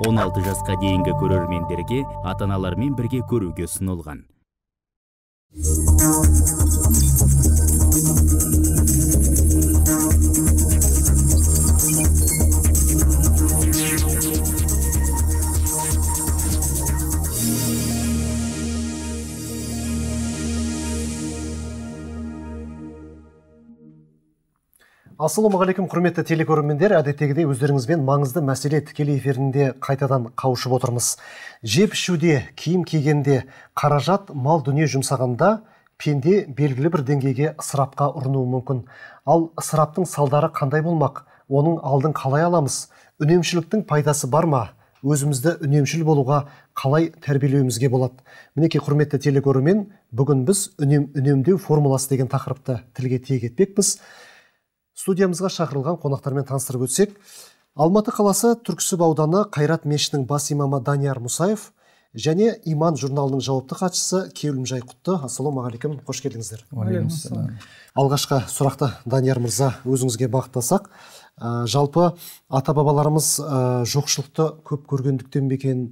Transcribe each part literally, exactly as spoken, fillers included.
он алты жасқа дейінгі көрермендерге ата-аналармен бірге көруге ұсынылған. Ассалаумағалейкум, құрметті телекөрермендер, әдеттегідей өздеріңізбен маңызды мәселе тікелей эфирінде қайтадан қауышып отырмыз. Жеп ішуде, киім кигенде, қаражат, мал дүние жұмсағанда пенде белгілі бір деңгейге ысырапқа ұрынуы мүмкін. Ал ысыраптың салдары қандай болмақ? Оның алдын қалай аламыз? Үнемшіліктің пайдасы бар ма? Өзімізді үнемшіл болуға қалай тәрбиелеуімізге болады? Мінекей, құрметті телекөрермен, бүгін біз үнем, үнемдеу формуласы деген тақырыпты тілге тиек етпекпіз. Студиямызға шақырылған қонақтармен таныстырып өтсек, Алматы қаласы Түрксіб ауданы Қайрат мешітінің бас имамы Данияр Мұсаев және Иман журналының жауапты хатшысы Кеулімжай Құтты. Ассалаумағалейкум, қош келдіңіздер. Алғашқы сұрақты Данияр мырза өзіңізге бағыттасақ, ә, жалпы ата-бабаларымыз ә, жоқшылықты көп көргендіктен бе екен,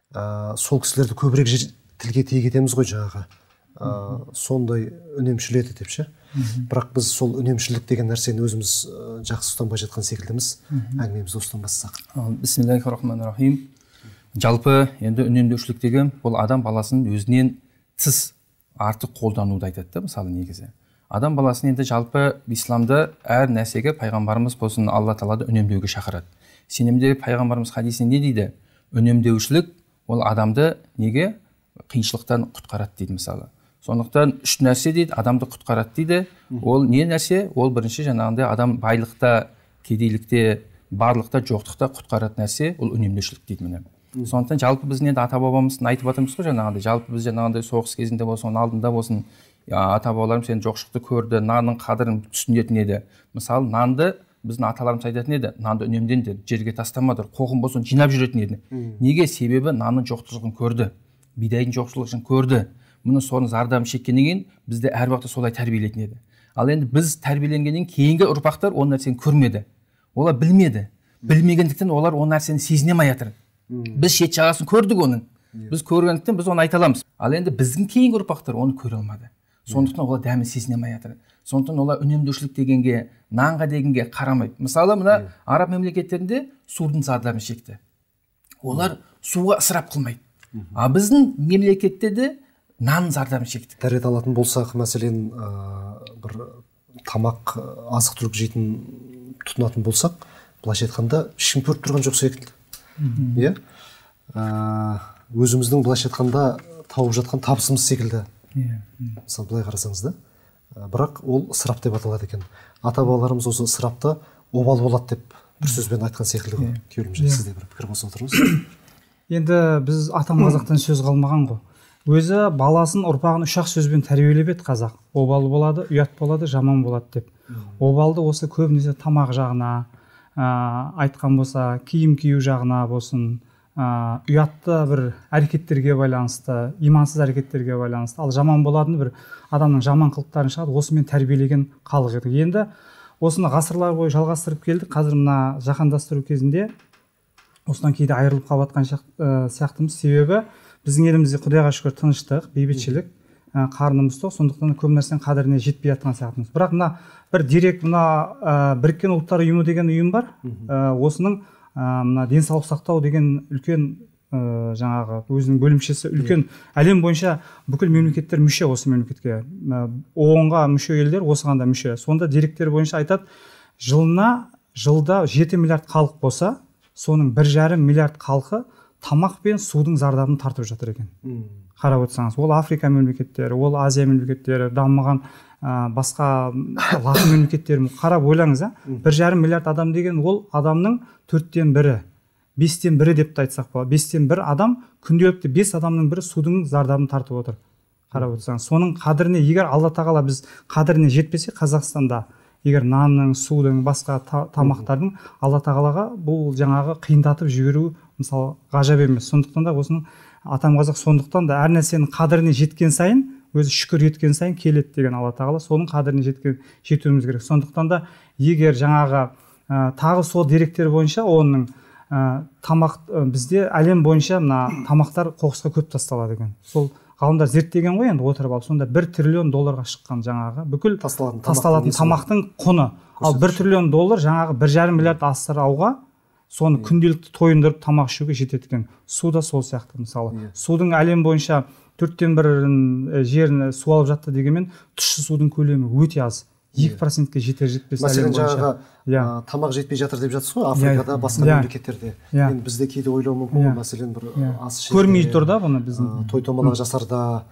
ә, сол кісілерді көбірек тілге тиек етеміз ғой жаңағы. Ә, сондай үнемшіл еді деп ше. Бірақ біз сол үнемшілдік деген нәрсені өзіміз жақсы ұстанбай жатқан секілдіміз. Әңгімемізді осыдан бастасақ. Бисмиллахир-рахманир-рахим. Жалпы енді үнемдеушілік деген бұл адам баласының өзінен тыс артық қолдануды айтады, мысалы негізі. Адам баласын енді жалпы исламда әр нәрсеге пайғамбарымыз болсын Алла Тағала үнемдеуге шақырады. Сенімде пайғамбарымыз хадисінде не дейді? Үнемдеушілік ол адамды неге қиыншылықтан құтқарады дейді мысалы. Сондықтан үш нәрсе дейді, адамды құтқарады дейді. Ол не нәрсе? Ол бірінші жаңағындай адам байлықта, кедейлікте, барлықта, жоқтықта құтқарады нәрсе, ол үнемдеушілік дейді міне. Сондықтан жалпы біздің енді ата-бабамыздың айтып жатырмыз ғой жаңағындай, жалпы біз жаңағындай соғыс кезінде болсын, оның алдында болсын, ата-бабаларымыз сен жоқшылықты көрді, нанның қадірін түсінетін еді. Мысалы, нанды біздің аталарымыз айтатын еді, нанды үнемдеңдер, жерге тастамадыр, қоқым болсын жинап жүретін еді. Неге? Себебі нанның жоқтығын көрді, бидайдың жоқшылығын көрді. Мұны соның зардабын шеккеннен кейін бізді әр уақытта солай тәрбиелейтін еді. Ал енді біз тәрбиеленгеннен кейінгі ұрпақтар ол нәрсені көрмеді. Олар білмеді. Білмегендіктен олар ол нәрсені сезіне алмай жатыр. Біз шет жағасын көрдік оның. Біз көргендіктен біз оны айта аламыз. Ал енді біздің кейінгі ұрпақтар оны көре алмады. Сондықтан олар дәмін сезіне алмай жатыр. Сондықтан олар үнемдеушілік дегенге, нанға дегенге қарамайды. Мысалы, мына араб мемлекеттерінде судың зардабын шекті. Олар суға ысырап қылмайды. А біздің мемлекетте де нан зардабын шектік. Дәрет алатын болсақ, мәселен, бір тамақ, азық түлік жейтін тұтынатын болсақ, былайша айтқанда ешкім көріп тұрған жоқ секілді. Иә? Өзіміздің былайша айтқанда тауып жатқан табысымыз секілді. Мысалы, былай қарасаңыз да. Бірақ ол ысырап деп аталады екен. Ата-бабаларымыз осы ысырапты обал болады деп бір сөзбен айтқан секілді ғой. Кеулімжай, сізде бір пікір қосып отырыңыз. Енді біз атам қазақтан сөз қалмаған ғой. Өзі баласын ұрпағын үш ақ сөзбен тәрбиелеп еді қазақ. Обал болады, ұят болады, жаман болады деп. Обалды осы көбінесе тамақ жағына, айтқан болса, киім кию жағына болсын, ұятты бір әрекеттерге байланысты, имансыз әрекеттерге байланысты. Ал жаман болатын бір адамның жаман қылықтарын шығады, осымен тәрбиелеген халық еді. Енді осыны ғасырлар бойы жалғастырып келдік. Қазір мына жаһандастыру кезінде осыдан кейде айырылып қалып жатқан сияқтымыз. Себебі біздің елімізде құдайға шүкір тыныштық, бейбітшілік, қарнымыз тоқ, сондықтан көп нәрсенің қадіріне жетпей жатқан сияқтымыз. Бірақ мына бір дерек, мына біріккен ұлттар ұйымы деген ұйым бар. Осының мына денсаулық сақтау деген үлкен жаңағы өзінің бөлімшесі, үлкен әлем бойынша бүкіл мемлекеттер мүше осы мемлекетке. оонға мүше елдер осыған да мүше. Сонда деректер бойынша айтады, жылына жылда жеті миллиард халық болса, соның бір жарым миллиард халқы тамақ пен судың зардабын тартып жатыр екен. Қарап отырсаңыз, ол Африка мемлекеттері, ол Азия мемлекеттері, дамыған басқа латын мемлекеттері, қарап ойлаңыз, бір жарым миллиард адам деген ол адамның төрттен бірі, бестен бірі деп айтсақ болады. Бестен бір адам күнделікті бес адамның бірі судың зардабын тартып отыр. Қарап отырсаңыз, соның қадіріне егер Алла Тағала біз қадіріне жетпесе Қазақстанда, егер нанның, судың, басқа тамақтардың Алла Тағалаға бұл жаңағы қиындатып жіберу мысалы ғажап емес. Сондықтан да осының атам қазақ сондықтан да әр нәрсенің қадіріне жеткен сайын, өзі шүкір еткен сайын келеді деген Алла Тағала, соның қадіріне жеткен жетуіміз керек. Сондықтан да егер жаңағы тағы сол деректер бойынша оның тамақ бізде әлем бойынша мына тамақтар қоқысқа көп тасталады екен. Сол ғалымдар зерттеген ғой енді отырып алып, сонда бір триллион долларға шыққан жаңағы бүкіл тасталатын тамақтың құны. Ал бір триллион доллар жаңағы бір жарым миллиард асырауға, соны күнделікті тойындырып тамақ ішуге жетеді екен. Су да сол сияқты мысалы. Судың әлем бойынша төрттен бір жерін су алып жатты дегенмен, тұщы судың көлемі өте аз. екі процентке жетер жетпес әлем бойынша. Мәселен жаңағы тамақ жетпей жатыр деп жатсыз ғой, Африкада, басқа мемлекеттерде. Енді бізде кейде ойлау мүмкін, мәселен бір ас ішерде, көрмей тұр да бұны біздің. Той томалақ жасарда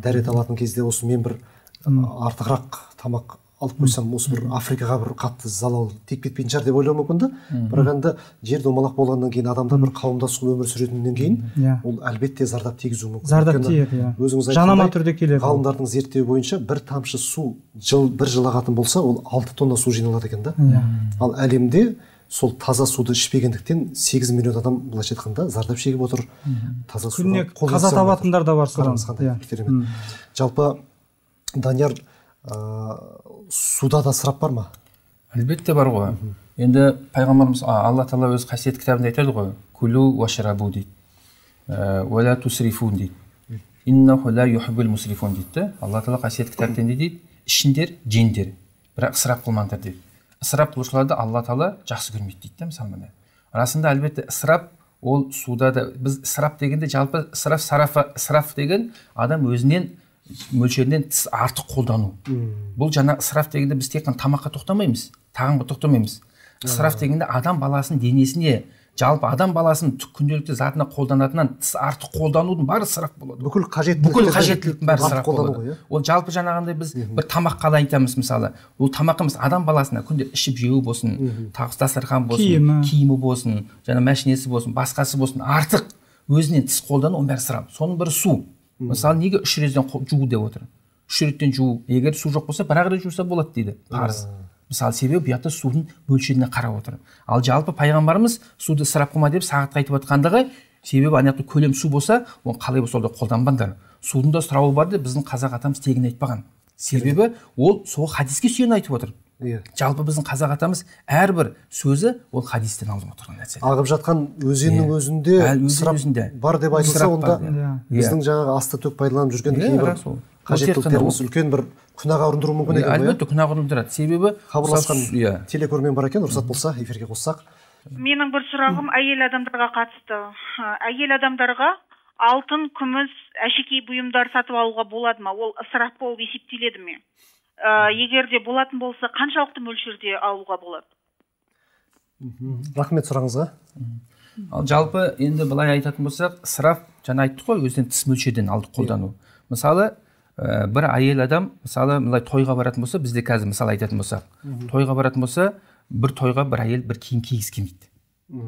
дәрет алатын кезде осы мен бір артығырақ тамақ алып қойсам, осы бір Африкаға бір қатты залал тиіп кетпейтін шығар деп ойлау мүмкін да. Бірақ енді жер домалақ болғаннан кейін адамдар бір қауымдас өмір сүретіннен кейін ол әлбетте зардап тигізуі мүмкін. Зардап тиеді, иә. Жанама түрде келеді. Ғалымдардың зерттеуі бойынша бір тамшы су бір жыл ағатын болса, ол алты тонна су жиналады екен да. Ал әлемде сол таза суды ішпегендіктен сегіз миллион адам былайша айтқанда зардап шегіп отыр. Таза суға қаза табатындар да бар содан. Жалпы Данияр, суда да ысырап бар ма? Әлбетте бар ғой. Енді пайғамбарымыз Алла Тағала өз қасиетті кітабында айтады ғой, күлу уашрабу дейді, уәла тусрифун дейді, иннаху ла юхиббул мусрифун дейді. Алла Тағала қасиетті кітапта не дейді? Ішіңдер, жеңдер, бірақ ысырап қылмаңдар дейді. Ысырап қылушыларды Алла Тағала жақсы көрмейді дейді, мысалы міне. Расында әлбетте ысырап ол суда да, біз ысырап дегенде жалпы ысырап сарафа, ысырап деген адам өзінен мөлшерінен тыс артық қолдану. Бұл жаңа ысырап дегенде біз тек қана тамаққа тоқтамаймыз, тағамға тоқтамаймыз. Ысырап дегенде адам баласының денесіне, жалпы адам баласының күнделікті затына қолданатыннан тыс артық қолданудың бәрі ысырап болады. Бүкіл қажеттіліктің бәрі ысырап болады. Ол жалпы жаңағындай біз бір тамаққа да айтамыз мысалы. Ол тамақымыз адам баласына күнде ішіп жеуі болсын, дастархан болсын, киімі болсын, жаңа машинесі болсын, басқасы болсын, артық өзінен тыс қолдану, оның бәрі ысырап. Соның бірі су. Мысалы, неге үш реттен жуу деп отыр? Үш реттен жуу, егер су жоқ болса, бір-ақ рет жуса болады дейді, парыз. Мысалы, себебі бұяқта судың мөлшеріне қарап отыр. Ал жалпы пайғамбарымыз суды ысырап қылма деп сағатқа айтып отқандығы, себебі ана көлем су болса, оны қалай болса да қолданбаңдар. Судың да сұрауы бар деп біздің қазақ атамыз тегін айтпаған. Себебі ол сол хадиске сүйен айтып отыр. Жалпы біздің қазақ атамыз әрбір сөзі ол хадистен алып отырған нәрсе. Ағып жатқан өзеннің өзінде ысырап бар деп айтылса, онда біздің жаңағы асты төк пайдаланып жүрген кейбір қажеттіліктеріміз үлкен бір күнәға ұрындыруы мүмкін екен ғой. Әлбетте күнәға ұрындырады. Себебі хабарласқан телекөрермен бар екен, рұқсат болса эфирге қоссақ. Менің бір сұрағым әйел адамдарға қатысты. Әйел адамдарға алтын, күміс, әшекей бұйымдар сатып алуға болады ма? Ол ысырап болып есептеледі ме? Егер де болатын болса, қаншалықты мөлшерде алуға болады? Рахмет сұрағыңызға. Ал жалпы енді былай айтатын болсақ, ысырап жаңа айттық қой, өзінен тыс мөлшерден алдық қолдану. Мысалы, бір әйел адам, мысалы, былай тойға баратын болса, бізде қазір мысалы айтатын болсақ, тойға баратын болса, бір тойға бір әйел бір киім кигізі келмейді.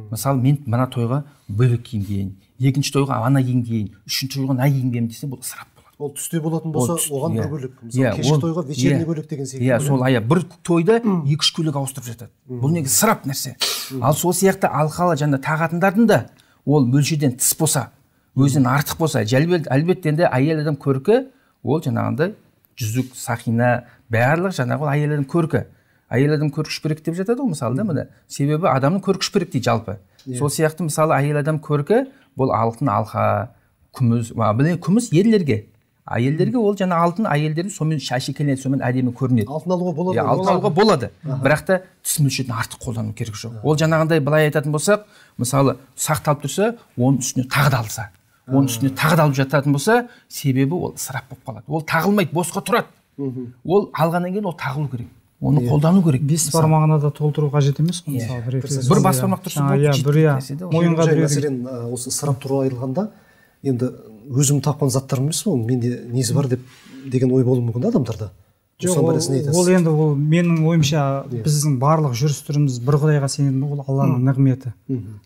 Мысалы, мен мына тойға бөлек киім киейін, екінші тойға ана киім киейін, үшінші тойға мына киім киейін десе, бұл ысырап. Ол түсте болатын болса, оған бір бөлек. Мысалы, кешкі тойға вечерний бөлек деген секілді. Иә, сол ая бір тойда екі-үш көйлек ауыстырып жатады. Бұл неге ысырап нәрсе. Ал сол сияқты алқалы жаңа тағатындардың да ол мөлшерден тыс болса, өзінен артық болса, әлбетте енді әйел адам көркі, ол жаңағындай жүзік, сақина, барлық жаңағы ол әйел адам көркі. Әйел адам көркі шүпірек деп жатады ғой мысалы да міне. Себебі адамның көркі шүпірек дейді жалпы. Сол сияқты мысалы әйел адам көркі, бұл алтын алқа, күміс, күміс ерлерге. Әйелдерге ол жаңа алтын, әйелдердің сонымен шашекеленеді, сонымен әдемі көрінеді. Алтын алуға болады. Алтын алуға болады. Бірақ та түс мөлшерден артық қолдану керек жоқ. Ол жаңағындай былай айтатын болсақ, мысалы сақталып тұрса, оның үстіне тағы да алса, оның үстіне тағы да алып жататын болса, себебі ол ысырап болып қалады. Ол тағылмайды, босқа тұрады. Ол алғаннан кейін ол тағылу керек. Оны қолдану керек. Бес бармағына да толтыру қажет емес қой мысалы. Бір бас бармақ тұрса болды. Мойынға біреу. Мәселен, осы ысырап туралы айтылғанда, енді өзім тапқан заттарым емес ол менде несі бар деп деген ой болуы мүмкін адамдарда. Жоқ, ол енді ол менің ойымша біздің барлық жүріс-тұрысымыз бір Құдайға сенетін, ол Алланың нығметі.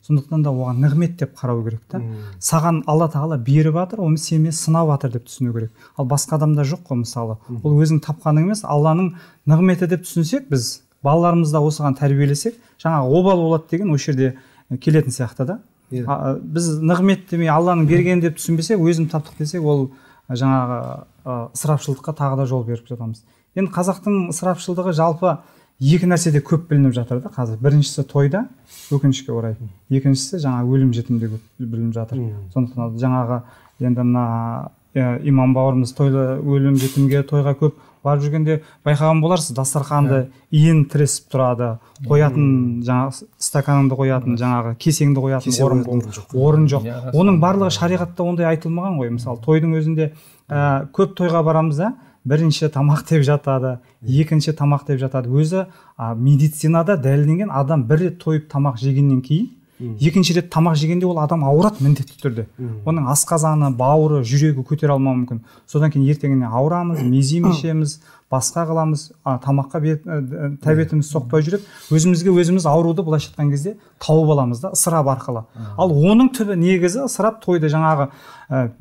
Сондықтан да оған нығмет деп қарау керек та. Саған Алла Тағала беріп жатыр, оны сен сынап жатыр деп түсіну керек. Ал басқа адамда жоқ қой мысалы. Ол өзің тапқаның емес, Алланың нығметі деп түсінсек, біз балаларымызды осыған тәрбиелесек, жаңағы обал болады деген осы жерде келетін сияқты да. Біз нығмет демей Алланың бергені деп түсінбесек, өзім таптық десек, ол жаңағы ысырапшылдыққа тағы да жол беріп жатамыз. Енді қазақтың ысырапшылдығы жалпы екі нәрседе көп білініп жатыр да қазір. Біріншісі тойда, өкінішке орай. Екіншісі жаңа өлім жітімде көп білініп жатыр. Сондықтан жаңағы енді мына имам бауырымыз тойлы өлім жітімге тойға көп барып жүргенде байқаған боларсыз, дастарханды иін тіресіп тұрады, қоятын жаңағы стаканыңды қоятын, жаңағы кесеңді қоятын орын, орын жоқ. Оның барлығы шариғатта ондай айтылмаған ғой. Мысалы, тойдың өзінде ә, көп тойға барамыз да, бірінші тамақ деп жатады, екінші тамақ деп жатады. Өзі ә, медицинада дәлелденген, адам бір рет тойып тамақ жегеннен кейін екінші рет тамақ жегенде ол адам ауырады міндетті түрде. Оның асқазаны, бауыры, жүрегі көтере алмауы мүмкін. Содан кейін ертеңіне ауырамыз, мезим ішеміз, басқа қыламыз, тамаққа тәбетіміз соқпай жүріп, өзімізге өзіміз ауруды былайша айтқан кезде тауып аламыз да, ысырап арқылы. Ал оның түбі негізі ысырап тойды жаңағы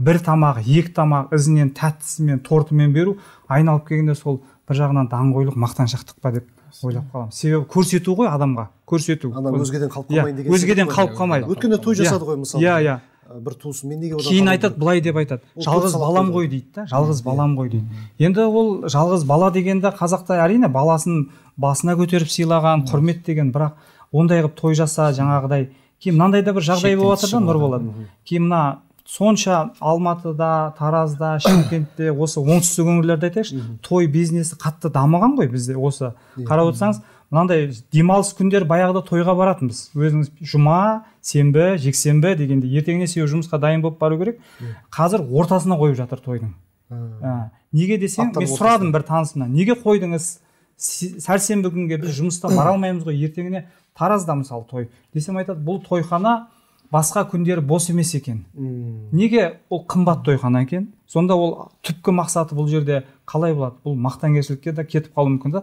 бір тамақ, екі тамақ ізінен тәттісімен, тортымен беру, айналып келгенде сол бір жағынан даңғойлық, мақтаншақтық па деп ойлап қаламын. Себебі көрсету ғой адамға, көрсету. Ана өзгеден қалып қалмайын деген. Өзгеден қалып қалмайды. Өткенде той жасады ғой мысалы. Иә, иә. Бір туысым мен неге одан кейін айтады, былай деп айтады. Жалғыз балам ғой дейді да, жалғыз балам ғой дейді. Енді ол жалғыз бала дегенде қазақта әрине баласын басына көтеріп сыйлаған, құрмет деген, бірақ ондай қылып той жаса, жаңағыдай. Кейін мынандай да бір жағдай болып жатыр да, нұр болады. Кейін мына сонша Алматыда, Таразда, Шымкентте, осы оңтүстік өңірлерде айтайықшы, той бизнесі қатты дамыған ғой бізде. Осы қарап отырсаңыз, мынандай демалыс күндер баяғыда тойға баратынбыз. Өзіңіз жұма, сенбі, жексенбі дегенде ертеңіне сеу жұмысқа дайын болып бару керек. Қазір ортасына қойып жатыр тойдың. Неге десең, мен сұрадым бір танысымнан, неге қойдыңыз? Сәрсенбі күнге біз жұмыста бара алмаймыз ғой, ертеңіне Таразда мысалы той. Десем айтады, бұл тойхана басқа күндері бос емес екен. Неге ол қымбат тойхана екен? Сонда ол түпкі мақсаты бұл жерде қалай болады? Бұл мақтанкершілікке де кетіп қалуы мүмкін да.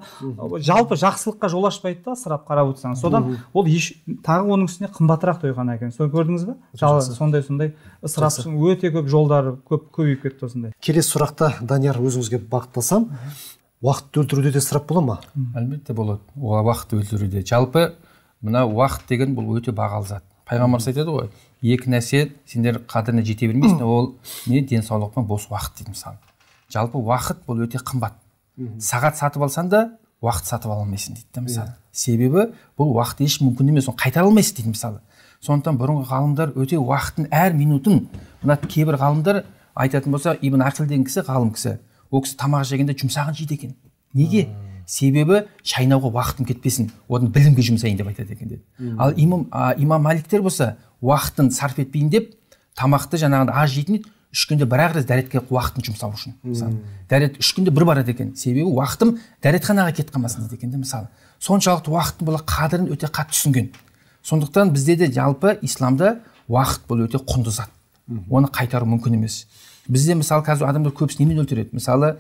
Жалпы жақсылыққа жол ашпайды да, сырап қарап отырсаңыз. Содан ол еш, тағы оның үстіне қымбатырақ тойхана екен. Соны көрдіңіз бе? Сондай сондай ысырап өте көп жолдары көп көбейіп кетті осындай. Келесі сұрақта Данияр өзіңізге бағыттасам, уақытты өлтіруде де ысырап бола ма? Әлбетте болады. Уақытты өлтіруде. Жалпы мына уақыт деген бұл өте бағалы зат. Пайғамбарымыз айтады ғой, екі нәрсе сендер қадіріне жете бермейсің, ол не денсаулық пен бос уақыт дейді мысалы. Жалпы уақыт бұл өте қымбат. Сағат сатып алсаң да уақыт сатып ала алмайсың дейді мысалы. Себебі бұл уақыт еш мүмкін емес, оны қайтара алмайсың дейді мысалы. Сондықтан бұрынғы ғалымдар өте уақыттың әр минутын, мына кейбір ғалымдар айтатын болса, Ибн Ақил деген кісі, ғалым кісі, ол кісі тамақ жегенде жұмсағын жейді екен. Неге? Себебі шайнауға уақытым кетпесін, одан білімге жұмсайын деп айтады екен деді. Ал имам, имам Маликтер болса, уақытын сарп етпейін деп, тамақты жаңағында аз жейтін еді, үш күнде бір ақ рет дәретке уақытын жұмсау үшін. Дәрет үш күнде бір барады екен. Себебі уақытым дәретханаға кетіп қалмасын дейді екен де мысалы. Соншалықты уақыттың бұл қадірін өте қатты түсінген. Сондықтан бізде де жалпы исламда уақыт бұл өте құнды зат. Оны қайтару мүмкін емес. Бізде мысалы қазір адамдар көбісі немен өлтіреді? Мысалы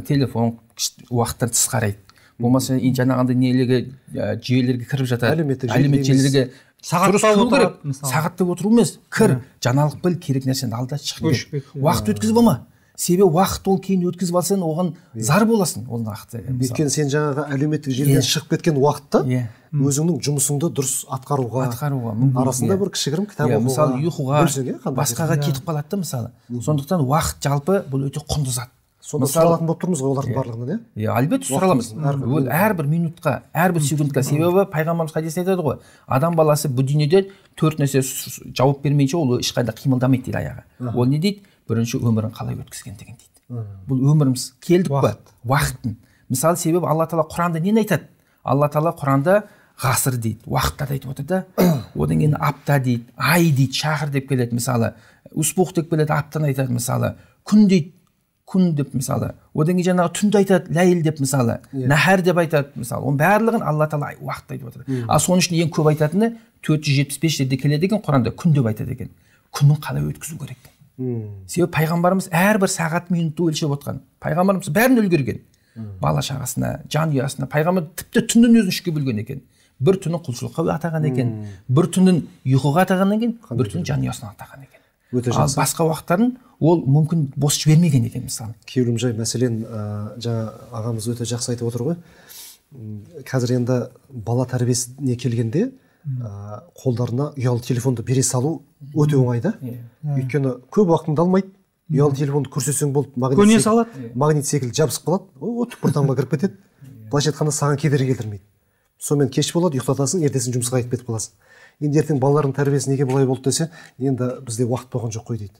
телефон уақыттан тыс қарайды. Болмаса жаңағындай нелерге жүйелерге кіріп жатады. Әлеуметтік желілерге сағатта отыру емес, кір, жаңалық біл, керек нәрсені алда шығып кет. Уақыт өткізіп алма. Себебі уақыт ол кейін өткізіп алсаң, оған зар боласың. Ол нақты. Өйткені сен жаңағы әлеуметтік желіден шығып кеткен уақытта өзіңнің жұмысыңды дұрыс атқаруға, атқаруға арасында бір кішігірім кітап оқуға, мысалы ұйқыға, басқаға кетіп қалады да мысалы. Сондықтан уақыт жалпы бұл өте құнды зат. Сонда сұралатын болып тұрмыз ғой олардың барлығынан, иә? Иә, әлбетте сұраламыз. Ол әрбір минутқа, әрбір секундқа. Себебі пайғамбарымыз хадисте айтады ғой, адам баласы бұл дүниеде төрт нәрсе жауап бермейінше ол ешқайда қимылдамайды дейді аяғы. Ол не дейді? Бірінші өмірін қалай өткізген деген дейді. Бұл өміріміз келдік па? Уақыттың. Мысалы, себебі Алла Тағала Құранда нені айтады? Алла Тағала Құранда ғасыр дейді, уақыттарды айтып отыр да. Одан кейін апта дейді, ай дейді, шахыр деп келеді мысалы. Успух деп келеді, аптаны айтады мысалы. Күн дейді, күн деп мысалы. Одан кейін жаңағы түнді айтады, ләйіл деп мысалы. Нәһәр деп айтады мысалы. Оның барлығын Алла Тағала уақытты айтып отыр. Ал соның үшін ең көп айтатыны төрт жүз жетпіс бес жерде келеді екен Құранда, күн деп айтады екен. Күнін қалай өткізу керек? Себебі пайғамбарымыз әрбір сағат минутты өлшеп отқан. Пайғамбарымыз бәрін үлгерген. Бала шағасына, жанұясына. Пайғамбар тіпті түнін өзін үшке бөлген екен. Бір түнін құлшылыққа атаған екен, бір түнін ұйқыға атаған екен, бір түнін жанұясына атаған екен. Ал басқа уақыттарын ол мүмкін бос жібермеген екен мысалы. Кеулімжай, мәселен, жаңа ағамыз өте жақсы айтып отыр ғой. Қазір енді бала тәрбиесіне келгенде қолдарына ұялы телефонды бере салу өте оңай да. Өйткені көп уақытыңды алмайды. Ұялы телефонды көрсетсең болды, магнит секілді жабысып қалады. О, түкпір тамға кіріп кетеді. былайша айтқанда саған кедергі келтірмейді. Сонымен кеш болады, ұйықтатасың, ертесің жұмысқа кетіп кетіп қаласың. Енді ертең балалардың тәрбиесі неге былай болды десе, енді бізде уақыт болған жоқ қой дейді.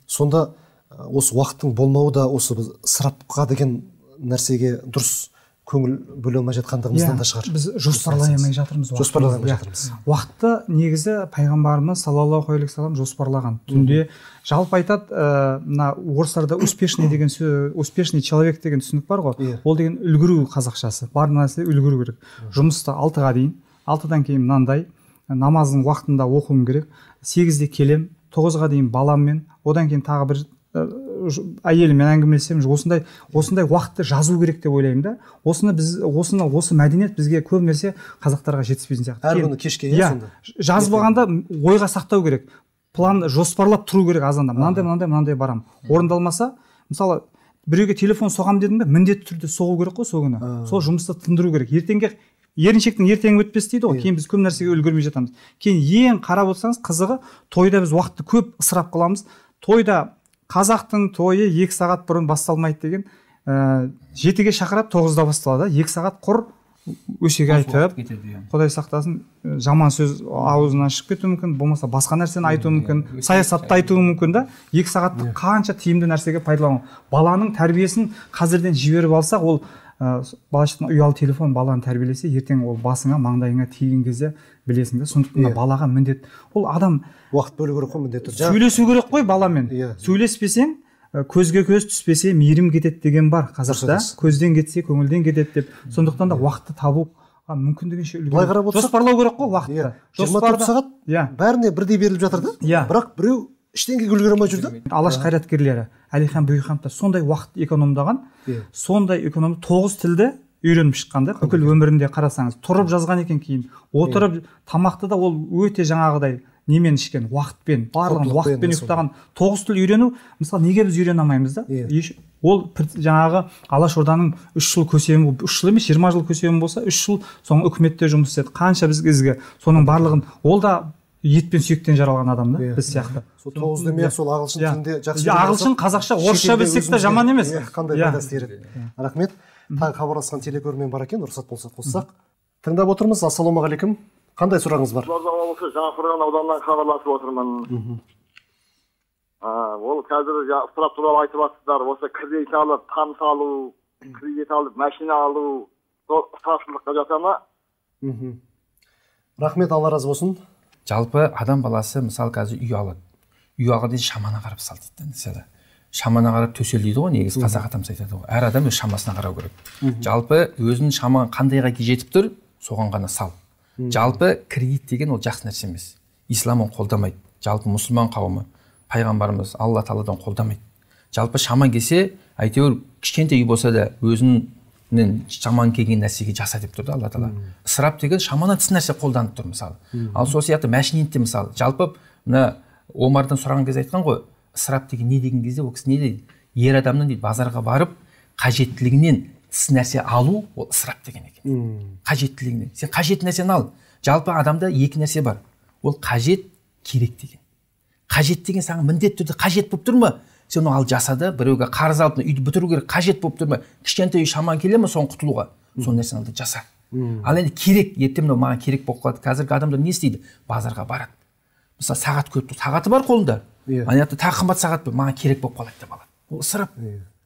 Сонда осы уақыттың болмауы да осы біз ысырапқа деген нәрсеге дұрыс көңіл бөле алмай жатқандығымыздан да шығар. Біз жоспарлай алмай жатырмыз. Жоспарлай алмай жатырмыз. Уақытты негізі пайғамбарымыз саллаллаху алейхи вассалам жоспарлаған. Түнде жалпы айтады, мына орыстарда успешный деген сөз, успешный человек деген түсінік бар ғой. Ол деген үлгеру қазақшасы. Бар нәрсе үлгеру керек. Жұмыста алтыға дейін, алтыдан кейін мынандай, намаздың уақытында оқуым керек, сегізде келем, тоғызға дейін баламмен, одан кейін тағы бір әйеліммен әңгімелесемін. Осындай осындай уақытты жазу керек деп ойлаймын да. Осыны біз осыны осы мәдениет бізге көп нәрсе қазақтарға жетіспейтін сияқты. Әр күні кешке сонда. Жазбағанда ойға сақтау керек. План жоспарлап тұру керек азанда. Мынандай мынандай мынандай барам. Орындалмаса, мысалы біреуге телефон соғам дедім бе, міндетті түрде соғу керек қой сол күні. Сол жұмысты тындыру керек. Ертеңге еріншектің ертеңі өтпес дейді ғой. Кейін біз көп нәрсеге үлгермей жатамыз. Кейін ең қарап отырсаңыз қызығы, тойда біз уақытты көп ысырап қыламыз. Тойда қазақтың тойы екі сағат бұрын басталмайды деген, жетіге шақырады, тоғызда басталады. Екі сағат құр өсеге айтып, Құдай сақтасын, жаман сөз аузынан шығып кетуі мүмкін, болмаса басқа нәрсені айтуы мүмкін, саясатты айтуы мүмкін да. Екі сағатты қанша тиімді нәрсеге пайдалану. Баланың тәрбиесін қазірден жіберіп алсақ, ол балашықтың ұялы телефон баланы тәрбиелесе, ертең ол басыңа, маңдайыңа тиген кезде білесің де. Сондықтан балаға міндет. Ол адам уақыт бөлу керек қой, міндетті. Сөйлесу керек қой баламен. Сөйлеспесең, көзге көз түспесе мейірім кетеді деген бар қазақта. Көзден кетсе көңілден кетеді деп. Сондықтан да уақытты табу мүмкіндігінше үлгеру. Жоспарлау керек қой уақытты. жиырма төрт сағат бәріне бірдей беріліп жатыр да. Бірақ біреу ештеңеге үлгере алмай жүр да. Алаш қайраткерлері Әлихан Бөкейхановтар сондай уақыт экономдаған, сондай эконом тоғыз тілді үйреніп шыққан да. Бүкіл өмірінде қарасаңыз, тұрып жазған екен, кейін отырып, тамақты да ол өте жаңағыдай немен ішкен, уақытпен, барлығын уақытпен ұйықтаған. Тоғыз тіл үйрену, мысалы неге біз үйрене алмаймыз да? Ол жаңағы Алаш Орданың үш жыл көсемі, үш жыл емес, жиырма жыл көсемі болса, үш жыл соң үкіметте жұмыс істеді. Қанша біз ізгі, соның барлығын, ол да ет пен сүйектен жаралған адам да, біз сияқты. Сол тоғыз демей сол ағылшын тілінде жақсы. Ағылшын, қазақша, орысша білсек те жаман емес. Қандай пайдасы тиеді. Рахмет. Тағы хабарласқан телекөрермен бар екен, рұқсат болса қоссақ. Тыңдап отырмыз. Ассалаумағалейкум. Қандай сұрағыңыз бар? Қызылорда облысы Жаңақорған ауданынан хабарласып отырмын. Ол қазір ысырап туралы айтып жатсыздар. Осы кредит алып, там салу, кредит алып, машина алу, ысырапшылдыққа жата ма? Рахмет, Алла разы болсын. Жалпы адам баласы мысалы қазір үй алады. Үй алған дейін шамана қарап сал дейді. Мысалы шамана қарап төсел дейді ғой, негізі қазақ атамыз айтады ғой. Әр адам өз шамасына қарау керек. Жалпы өзінің шамаң қандайға жетіп тұр, соған ғана сал. Жалпы кредит деген ол жақсы нәрсе емес. Ислам оны қолдамайды. Жалпы мұсылман қауымы, пайғамбарымыз Алла тағаладан қолдамайды. Жалпы шаман келсе, әйтеуір кішкентай үй болса да өзінің шаман келген нәрсеге жаса деп тұрды Алла тағала. Ысырап деген шаманнан тыс нәрсе қолданып тұр мысалы. Ал сол сияқты мәшинетте мысалы, жалпы мына Омардан сұраған кезде айтқан ғой, ысырап деген не деген кезде ол кісі не дейді? Ер адамның дейді базарға барып қажеттілігінен тыс нәрсе алу, ол ысырап деген екен. Қажеттілігінен. Сен қажет нәрсені ал. Жалпы адамда екі нәрсе бар. Ол қажет, керек деген. Қажет деген саған міндетті түрде қажет болып тұр ма? Сен оны ал жасады, біреуге қарыз алып үйді бітіру керек, қажет болып тұр ма? Кішкентай үй шаман келе ме соны құтылуға? Сол нәрсені алды жаса. Ал енді керек, ертең мынау маған керек болып қалады. Қазіргі адамдар не істейді? Базарға барады. Мысалы сағат көп, сағаты бар қолында. Ана жақта тағы қымбат сағат бар, маған керек болып қалады деп алады. Ол ысырап.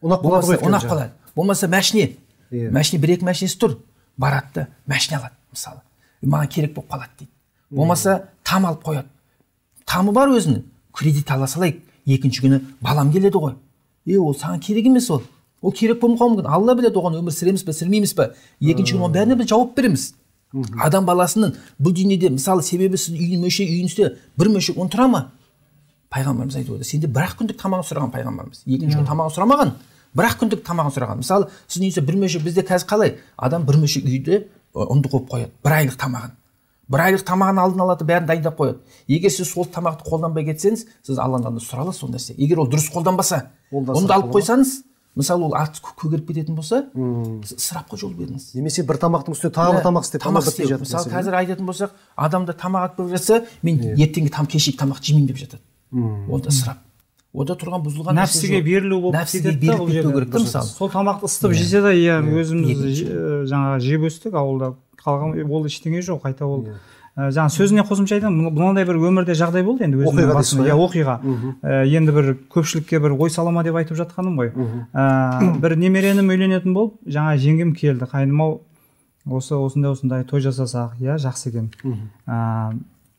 Ұнап қалады. Болмаса мәшине. Мәшине бір-екі мәшинесі тұр. Барады да мәшине алады мысалы. Маған керек болып қалады дейді. Болмаса там алып қояды. Тамы бар өзінің. Кредит ала салайық. Екінші күні балам келеді ғой. Е, ол саған керек емес ол. Ол керек болмауы мүмкін. Алла біледі оған өмір сүреміз бе, сүрмейміз бе. Екінші күні оның бәріне біз жауап береміз. Адам баласының бұл дүниеде мысалы себебі сіз үйін мөшек үйіңізде бір мөшек он тұра ма? Пайғамбарымыз айтып отыр. Сенде бір-ақ күндік тамағын сұраған пайғамбарымыз. Екінші күн тамағын сұрамаған. Бір-ақ күндік тамағын сұраған. Мысалы сіздің үйіңізде бір мөшек, бізде қазір қалай? Адам бір мөшек үйде ұнды қойып қояды. Бір айлық тамағын. Бір айлық тамағын алдын алады, бәрін дайындап қояды. Егер сіз сол тамақты қолданбай кетсеңіз, сіз Алладан сұра аласыз сол нәрсе. Егер ол дұрыс қолданбаса, оны алып қойсаңыз, мысалы ол артық көгеріп кететін болса, ысырапқа жол бердіңіз. Немесе бір тамақтың үстіне тағы бір тамақ істеп, тамақ істеп. Мысалы қазір айтатын болсақ, адамда тамақ атып жатса, мен ертеңгі там кешегі тамақ жемеймін деп жатады. Ол да ысырап. ода тұрған бұзылған нәпсіге берілу болып нәпсіге беріліп кетпеу керек та мысалы. Сол тамақты ысытып жесе де, иә, өзіміз жаңағы жеп өстік ауылда, қалған ол ештеңе жоқ, қайта ол жаңа сөзіне қосымша айтайын, мынандай бір өмірде жағдай болды енді өзімнің басым, иә, оқиға. Енді бір көпшілікке бір ой салама деп айтып жатқаным ғой. Бір немеренім үйленетін болып, жаңа жеңгем келді, қайным-ау, осы осындай осындай той жасасақ, иә, жақсы екен.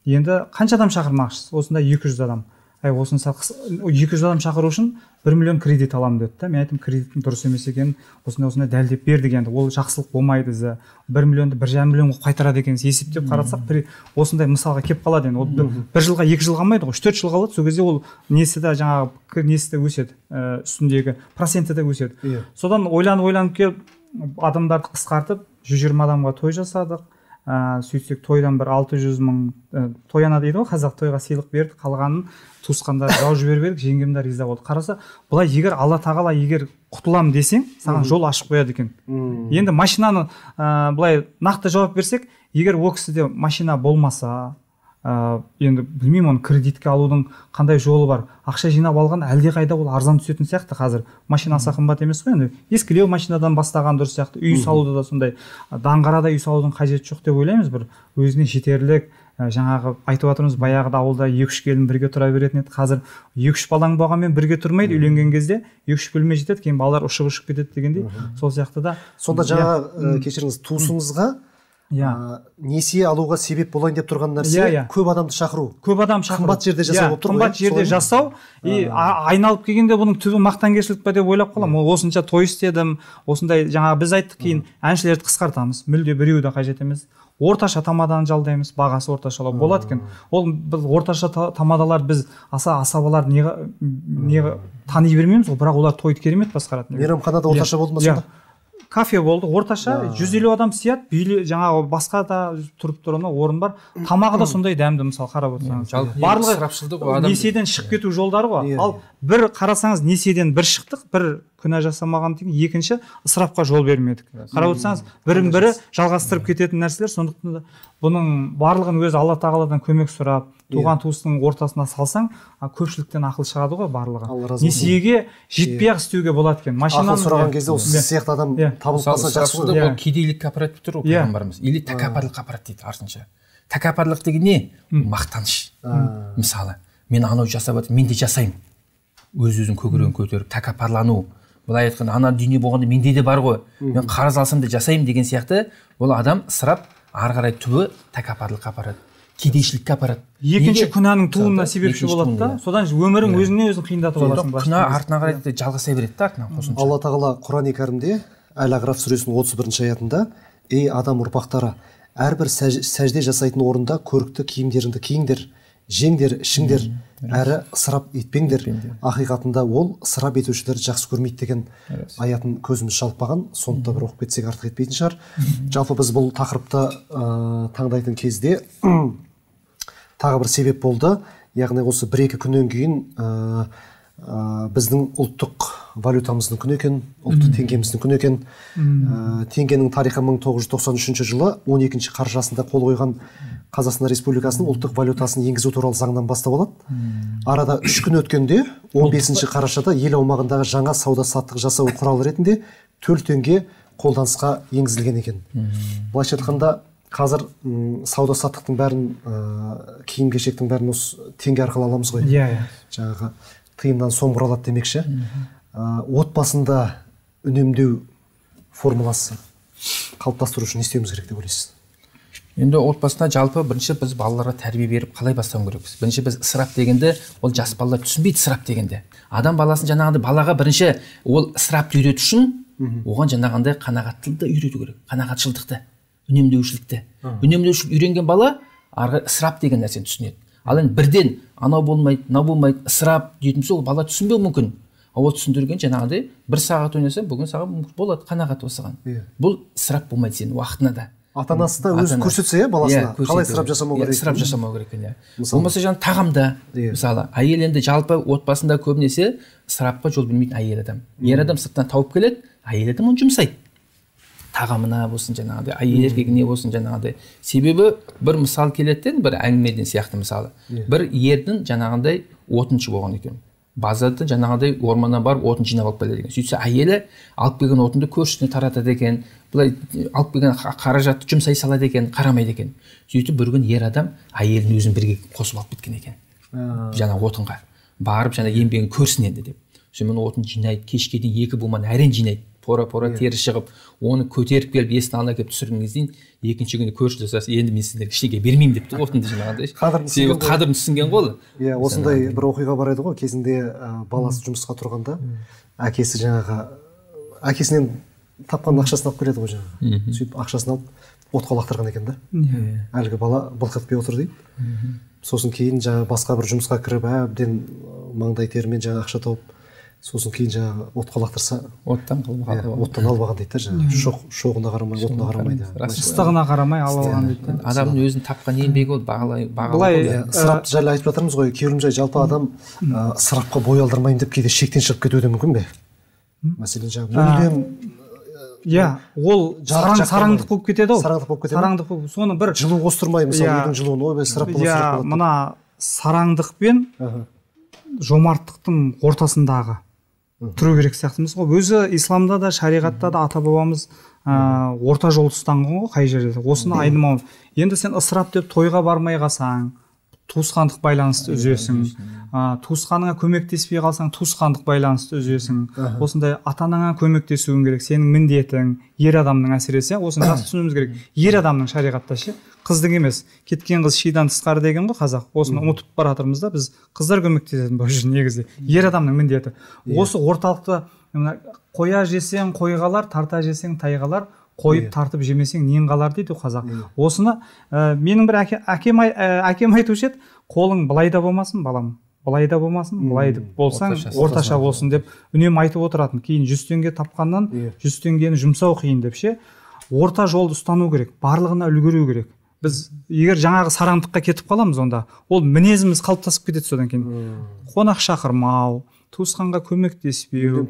Енді қанша адам шақырмақшысыз? Осындай екі жүз адам. Ай, осыны екі жүз адам шақыру үшін бір миллион кредит аламын деді да. Мен айттым, кредиттің дұрыс емес екенін, осындай осындай дәлдеп бердік енді. Ол жақсылық болмайды ізі. бір миллионды бір жарым миллионға қайтарады екенсіз. Есептеп қарасақ, осындай мысалға келіп қалады енді. Ол бір жылға, екі жылға алмайды ғой, үш төрт жылға алады. Сол кезде ол несі де жаңағы несі де өседі, үстіндегі проценті де өседі. Содан ойланып-ойланып келіп, адамдарды қысқартып, жүз жиырма адамға той жасадық. Сөйтсек тойдан бір алты жүз мың тояна дейді ғой, қазақ, тойға сыйлық берді, қалғанын туысқандар жау жіберіп едік, жеңгемдер риза болды. Қараса, бұлай егер Алла тағала егер құтылам десең, саған жол ашып қояды екен. Енді машинаны бұлай нақты жауап берсек, егер ол кісіде машина болмаса, енді білмеймін, оны кредитке алудың қандай жолы бар. Ақша жинап алған әлде қайда ол арзан түсетін сияқты қазір. Машина аса қымбат емес қой енді. Ескілеу машинадан бастаған дұрыс сияқты. Үй салуда да сондай даңғарада үй салудың қажеті жоқ деп ойлаймыз. Бір өзіне жетерлік, жаңағы айтып отырмыз, баяғыда ауылда екі үш келін бірге тұра беретін еді. Қазір екі үш балаң болғанмен бірге тұрмайды, үйленген кезде екі үш бөлме жетеді, кейін балалар ұшып-ұшып кетеді дегендей. Сол сияқты да. Сонда жаңа кешіріңіз, туысыңызға несие алуға себеп болайын деп тұрған нәрсе көп адамды шақыру. Көп адам шақыру. Қымбат жерде жасау болып тұр ғой. Қымбат жерде жасау, и айналып келгенде бұның түбі мақтанкершілік па деп ойлап қаламын. Осынша той істедім, осындай жаңағы біз айттық, кейін әншілерді қысқартамыз. Мүлде біреуі де қажет емес. Орташа тамадан жалдаймыз, бағасы орташалау болады екен. Ол біз орташа тамадалар біз аса асабалар неге тани бермейміз, бірақ олар тойды керемет басқарады. Мейрамханада орташа болды ма сонда? Кафе болды, орташа жүз елу адам сияды, жаңағы басқа да тұрып тұрған орын бар. Тамағы да сондай дәмді, мысалы қарап отырсаңыз. Барлығы несиеден шығып кету жолдары ғой. Ал бір қарасаңыз, несиеден бір шықтық, бір күнә жасамаған деген, екінші ысырапқа жол бермедік. Қарап отырсаңыз, бірін бірі жалғастырып кететін нәрселер. Сондықтан да бұның барлығын өзі Алла тағаладан көмек сұрап, туған туыстың ортасына салсаң, көпшіліктен ақыл шығады ғой барлығы. Несиеге жетпей-ақ істеуге болады екен. Ақыл сұраған кезде осы сияқты адам табылып қалса жақсы ғой. Ол кедейлікке апарады деп тұр ғой пайғамбарымыз. Или тәкаппарлыққа апарады дейді артынша. Тәкаппарлық деген не? Мақтаныш. Мысалы, мен анау жасап жатырмын, мен де жасаймын. Өз-өзін көкірегін көтеріп, тәкаппарлану. Былай айтқанда, ана дүние болғанда менде де бар ғой. Мен қарыз алсам да жасаймын деген сияқты, ол адам ысырап, ары қарай түбі тәкаппарлыққа апарады. Кедейшілікке апарады. Екінші күнәнің туына себепші болады да, содан өмірің өзіңе өзің қиындатып аласың. Күнә артына қарай жалғаса береді да, артынан қосымша. Алла тағала Құран-ы Кәрімде Әл-Ағраф сүресінің отыз бірінші аятында: "Ей адам ұрпақтары, әрбір сәжде жасайтын орында көрікті киімдеріңді киіңдер, жеңдер, ішіңдер, әрі ысырап етпеңдер. Ақиқатында ол ысырап етушілерді жақсы көрмейді" деген аятын көзіміз шалып қалған. Сондықтан бір оқып кетсек артық етпейтін шығар. Жалпы біз бұл тақырыпты таңдайтын кезде тағы бір себеп болды. Яғни осы бір-екі күннен кейін біздің ұлттық валютамыздың күні екен, ұлттық теңгеміздің күні екен. Теңгенің тарихы мың тоғыз жүз тоқсан үшінші жылы он екінші қарашасында қол қойған Қазақстан Республикасының ұлттық валютасын енгізу туралы заңнан бастап алады. Арада үш күн өткенде он бесінші қарашада ел аумағындағы жаңа сауда-саттық жасау құралы ретінде төл теңге қолданысқа енгізілген екен. Былайша айтқанда, қазір сауда-саттықтың бәрін, киім-кешектің бәрін осы теңге арқылы аламыз ғой. Жаңағы тиыннан сом құралады демекші. Отбасында үнемдеу формуласы қалыптастыру үшін не істеуіміз керек деп ойлайсыз? Енді отбасына жалпы бірінші біз балаларға тәрбие беріп қалай бастауымыз керекпіз. Бірінші біз ысырап дегенде, ол жас балалар түсінбейді ысырап дегенде. Адам баласын жаңағындай балаға бірінші ол ысырапты үйрету үшін, оған жаңағындай қанағаттылықты үйрету керек. Қанағатшылдықты, үнемдеушілікті. Үнемдеушілік үйренген бала арғы ысырап деген нәрсені түсінеді. Ал енді бірден анау болмайды, мынау болмайды, ысырап дейтін болса, ол бала түсінбеуі мүмкін. Ол түсіндірген жаңағындай бір сағат ойнасаң, бүгін саған болады қанағат осыған. Бұл ысырап болмайды сенің уақытына да. Ата-анасы да өзі көрсетсе, баласына қалай ысырап жасамау керек. Ысырап жасамау керек екен. Болмаса жаңа тағамда, мысалы, әйел енді жалпы отбасында көбінесе ысырапқа жол бермейтін әйел адам. Ер адам сырттан тауып келеді, әйел адам оны жұмсайды. Тағамына болсын жаңағыдай, әйел еркегіне болсын жаңағыдай. Себебі бір мысал келеді, бір әңгімеден сияқты мысалы. Бір ердің жаңағындай отыншы болған екен. базарда жаңағыдай орманнан барып отын жинап алып келеді екен. Сөйтсе әйелі алып келген отынды көршісіне таратады екен, былай алып келген қаражатты жұмсай салады екен, қарамайды екен. Сөйтіп бір күн ер адам әйелін өзін бірге қосып алып кеткен екен. Жаңа отынға барып жаңа еңбегін көрсін енді деп. Сонымен отын жинайды, кешке дейін екі буманы әрең жинайды. Пора-пора тері шығып, оны көтеріп келіп есін алына келіп түсірген кезден екінші күні көрші жасасы, енді мен сіздерге ештеңе бермеймін депті, отынды жинағандай. Себебі қадірін түсінген ғой. Иә, осындай бір оқиға бар еді ғой, кезінде баласы жұмысқа тұрғанда, әкесі жаңағы әкесінен тапқан ақшасын алып келеді ғой жаңағы. Сөйтіп ақшасын алып отқа лақтырған екен да. Әлгі бала былқ етпей отыр дейді. Сосын кейін жаңағы басқа бір жұмысқа кіріп, әбден маңдай терімен жаңағы ақша тауып, сосын кейін жаңағы отқа лақтырса, оттан оттан алып алған дейді жаңағы. Шоғына қарамай, отына қарамайды. Ыстығына қарамай алып алған дейді. Адамның өзінің тапқан еңбегі ол бағалай бағалай. Ысырап жайлы айтып жатырмыз ғой. Күйеулімжай, жалпы адам ысырапқа бой алдырмайын деп кейде шектен шығып кетуі де мүмкін бе? Мәселен жаңағы мүлдем иә, ол сараңдық болып кетеді ау. Сараңдық болып кетеді. Сараңдық болып, соны бір жылу қостырмай, мысалы үйдің жылуын ойбай ысырап болады. Иә, мына сараңдық пен жомарттықтың ортасындағы тұру керек сияқтымыз ғой. Өзі исламда да, шариғатта да ата бабамыз орта жолды ұстанған ғой, қай жерде. Осыны айнымау. Енді сен ысырап деп тойға бармай қалсаң, туысқандық байланысты үзесің. Туысқаныңа көмектеспей қалсаң, туысқандық байланысты үзесің. Осындай ата-анаңа көмектесуің керек, сенің міндетің, ер адамның әсіресе, осыны жақсы түсінуіміз керек. Ер адамның шариғатта ше, қыздың емес, кеткен қыз шидан тысқары деген ғой қазақ. Осыны ұмытып бара жатырмыз да, біз қыздар көмектесетін бұл үшін негізі. Ер адамның міндеті. Осы орталықты қоя жесең қойғалар, тарта жесең тайғалар, қойып тартып жемесең нең қалар дейді қазақ. Осыны менің бір әкем әкем айтушы еді, қолың былай да болмасын балам, былай да болмасын, былай болсаң орташа болсын деп үнемі айтып отыратын. Кейін жүз теңге тапқаннан жүз теңгені жұмсау қиын деп ше. Орта жолды ұстану керек, барлығына үлгеру керек. Біз егер жаңағы сараңдыққа кетіп қаламыз, онда ол мінезіміз қалыптасып кетеді содан кейін. Қонақ шақырмау, туысқанға көмектеспеу,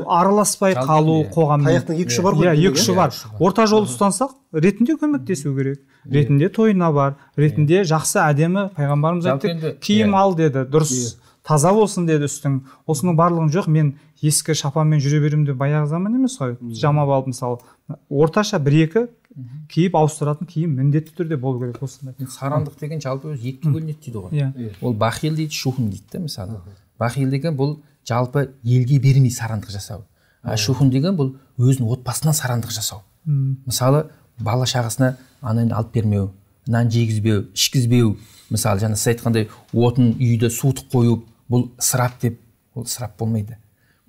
араласпай қалу қоғаммен. Таяқтың екі ұшы бар ғой. Иә, екі ұшы бар. Орта жолды ұстансақ, ретінде көмектесу керек. Ретінде тойына бар, ретінде жақсы әдемі, пайғамбарымыз айтты, киім ал деді, дұрыс таза болсын деді үстің. Осының барлығын жоқ, мен ескі шапанмен жүре беремін деп баяғы заман емес қой. Жамап алып мысалы, орташа бір-екі киіп ауыстыратын киім міндетті түрде болу керек осындай. Сараңдық деген жалпы өзі екіге бөлінеді дейді ғой. Ол бахил дейді, шухун дейді да мысалы. Бахил деген бұл жалпы елге бермей сараңдық жасау. Шухун деген бұл өзінің отбасынан сараңдық жасау. Мысалы бала шағасына ананы алып бермеу, нан жегізбеу, ішкізбеу. Мысалы жаңа сіз айтқандай отын үйді суытып қою, бұл ысырап деп, ол ысырап болмайды.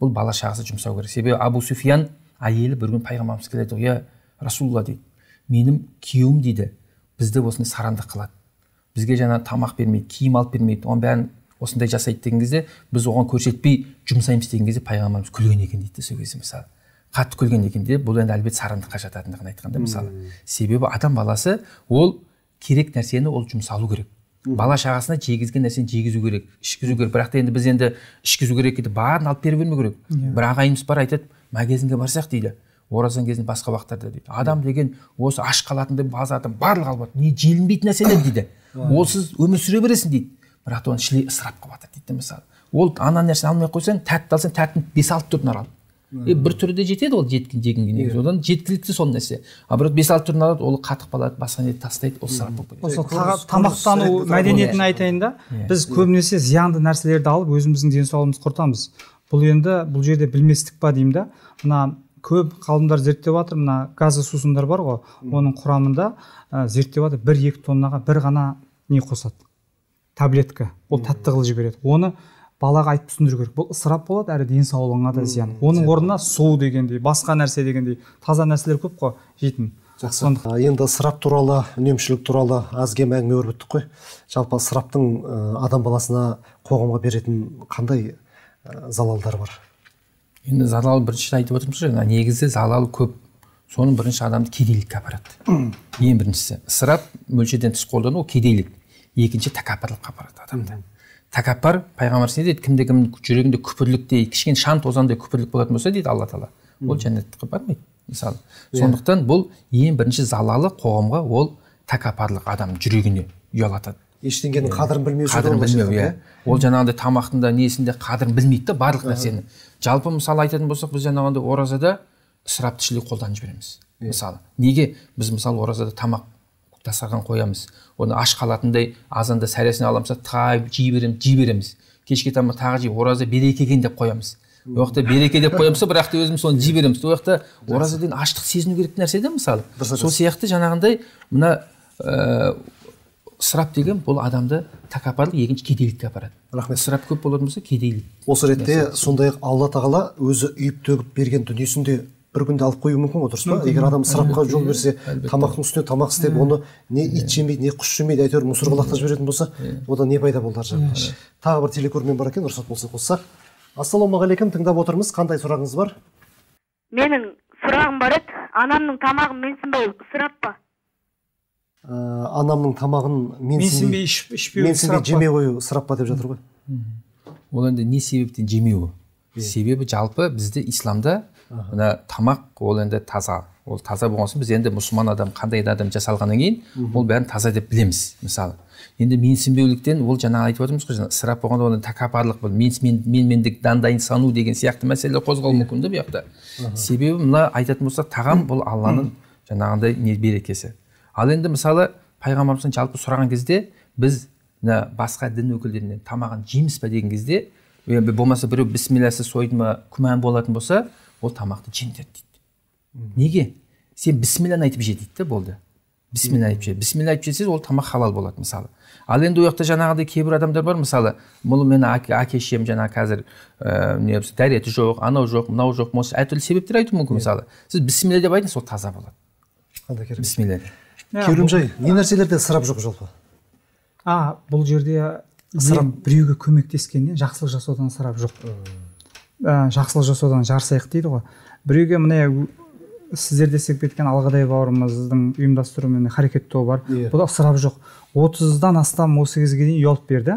Бұл бала шағасы жұмсау керек. Себебі Абу Суфиян әйелі бір күн пайғамбарымыз келеді, "Я Расулалла" дейді. "Менің күйеуім дейді, бізді осындай сараңдық қылады. Бізге жаңа тамақ бермейді, киім алып бермейді. Оның бәрін осындай жасайды" деген кезде, біз оған көрсетпей жұмсаймыз деген кезде пайғамбарымыз күлген екен дейді сол кезде мысалы. Қатты күлген екен деп, бұл енді әлбетте сараңдыққа жататындығын айтқанда мысалы. Себебі адам баласы ол керек нәрсені ол жұмсалу керек. Бала шағасына жегізген нәрсені жегізу керек, ішкізу керек. Бірақ та енді біз енді ішкізу керек дейді, барын алып беріп бермеу керек. Бір ағайымыз бар айтады, магазинге барсақ дейді, оразан кезінде басқа уақыттарда дейді. Адам деген осы аш қалатындай базардан барлық алып не желінбейтін нәрселер дейді. Ол сіз өмір сүре бересің дейді. Бірақ та оны шілей ысырап қылып жатады дейді мысалы. Ол ана нәрсені алмай қойсаң, тәтті алсаң, тәттін бес алты түрін алады. Бір түрі де жетеді ол жеткен жегінге негізі. Одан жеткілікті сол нәрсе. А бірақ бес алты түрін алады, ол қатып қалады, басқа не тастайды, ол ысырап болып кетеді. Осы тамақтану мәдениетін айтайын да, біз көбінесе зиянды нәрселерді алып өзіміздің денсаулығымызды құртамыз. Бұл енді бұл жерде білместік па деймін да. Мына көп ғалымдар зерттеп жатыр, мына газды сусындар бар ғой, оның құрамында зерттеп жатыр, бір-екі тоннаға бір ғана не қосады, таблетка, ол тәтті қылып жібереді. Оны балаға айтып түсіндіру керек. Бұл ысырап болады, әрі денсаулығыңа да зиян. Оның орнына су дегендей, басқа нәрсе дегендей таза нәрселер көп қой жейтін. Жақсы. Енді ысырап туралы, үнемшілік туралы аз кем әңгіме өрбіттік қой. Жалпы ысыраптың адам баласына, қоғамға беретін қандай залалдар бар? Енді залал бірінші айтып отырмыз ғой, негізі залал көп. Соның бірінші адамды кедейлікке апарады. Ең біріншісі ысырап мөлшерден тыс қолдану, ол кедейлік. Екінші тәкаппарлыққа апарады адамды. Тәкаппар, пайғамбар дейді, кімде кім жүрегінде күпірліктей, кішкене шан тозандай күпірлік болатын болса дейді Алла Тағала, ол жәннатқа бармайды мысалы. Сондықтан бұл ең бірінші залалы қоғамға, ол тәкаппарлық адам жүрегіне ұялатады. ештеңенің қадірін білмеу қадірін білмеу, иә. Ол жаңағындай тамақтың да несінде қадірін білмейді да барлық нәрсені. Жалпы мысалы айтатын болсақ, біз жаңағындай оразада ысырапшылдық қолданып жібереміз. Мысалы, неге біз мысалы оразада тамақ дастархан қоямыз, оны аш қалатындай азанда сәресін аламыз, тайып жей береміз, жей береміз. Кешке тамақ тағы жей, ораза береке екен деп қоямыз. Ол жақта береке деп қоямыз, бірақ та өзіміз соны жей береміз. Ол жақта ораза деген аштық сезіну керек нәрсе де мысалы. Сол сияқты жаңағындай мына ысырап деген бұл адамды тәкаппарлық, екінші кедейлікке апарады. Рахмет. Ысырап көп болатын болса кедейлік. Осы ретте сондай-ақ Алла тағала өзі үйіп төгіп берген дүниесінде бір күнде алып қою мүмкін ғой, дұрыс па? Егер адам ысырапқа жол берсе, тамақтың үстіне тамақ істеп, оны не ит жемейді, не құс жемейді, әйтеуір мусорға лақтырып жіберетін болса, одан не пайда болды аржағында. Тағы бір телекөрермен бар екен, рұқсат болса қоссақ. Ассалаумағалейкум, тыңдап отырмыз. Қандай сұрағыңыз бар? Менің сұрағым бар еді. Анамның тамағын менсінбеу ысырап па? Анамның тамағын менсінбей ішпеу менсінбей жемей қою ысырап па деп жатыр ғой. Ол енді не себептен жемеуі? Себебі жалпы бізде исламда мына тамақ ол енді таза. Ол таза болған соң біз енді мұсылман адам қандай адам жасалғаннан кейін ол бәрін таза деп білеміз, мысалы. Енді менсінбеуліктен ол жаңа айтып отырмыз ғой, ысырап болғанда оны тәкаппарлық, бұл менмендік, дандайын сану деген сияқты мәселелер қозғалуы мүмкін де бұл жақта. Себебі мына айтатын болсақ, тағам бұл Алланың жаңағындай не берекесі. Ал енді мысалы пайғамбарымыздың жалпы сұраған кезде біз басқа дін өкілдерінен тамағын жейміз ба деген кезде, болмаса біреу бісмилләсіз сойды ма күмән болатын болса, ол тамақты жеңдер дейді. Неге? Сен бісмилләні айтып же дейді, болды. Бісмилля айтып же. Бісмилля айтып жесеңіз, ол тамақ халал болады мысалы. Ал енді ол жақта жаңағыдай кейбір адамдар бар, мысалы, бұл мен әке-шешем жаңа қазір не дәреті жоқ, анау жоқ, мынау жоқ, әртүрлі себептер айту мүмкін мысалы. Сіз бісмилля деп айтыңыз, ол таза болады. Бісмилля. Керімжай, не нәрселерде ысырап жоқ жалпы? А, бұл жерде біреуге көмектескеннен жақсылық жасаудан ысырап жоқ. Жақсылық жасаудан жарысайық дейді ғой. Біреуге міне сіздер десек кеткен Алғадай бауырымыздың ұйымдастыруымен харекет тобы бар. Бұл ысырап жоқ. отыздан астам осы кезге дейін үй алып берді.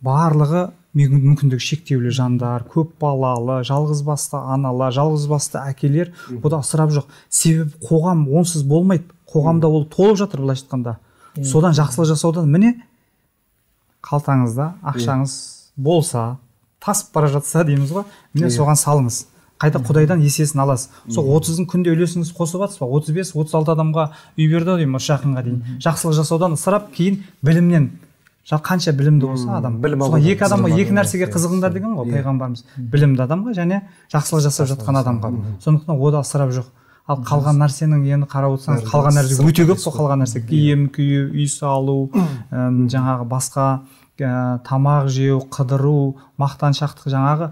Барлығы мүмкіндігі шектеулі жандар, көп балалы, жалғыз басты аналар, жалғыз басты әкелер. Бұл ысырап жоқ. Себебі қоғам онсыз болмайды. Қоғамда ол толып жатыр былайша айтқанда. Содан жақсылық жасаудан міне қалтаңызда ақшаңыз болса, тасып бара жатса дейміз ғой, міне соған салыңыз. Қайта Құдайдан есесін аласыз. Сол отыздың күнде үлесіңіз қосып жатсыз ба? отыз бес отыз алты адамға үй берді деймін осы жақынға дейін. Жақсылық жасаудан ысырап, кейін білімнен. Қанша білімді болса адам. Соған екі адамға екі нәрсеге қызығыңдар деген ғой пайғамбарымыз. Білімді адамға және жақсылық жасап жатқан адамға. Сондықтан ода ысырап жоқ. Ал қалған нәрсенің енді қарап отырсаңыз, қалған нәрсе өте көп қой, қалған нәрсе. Киім кию, үй салу, жаңағы басқа тамақ жеу, қыдыру, мақтаншақтық, жаңағы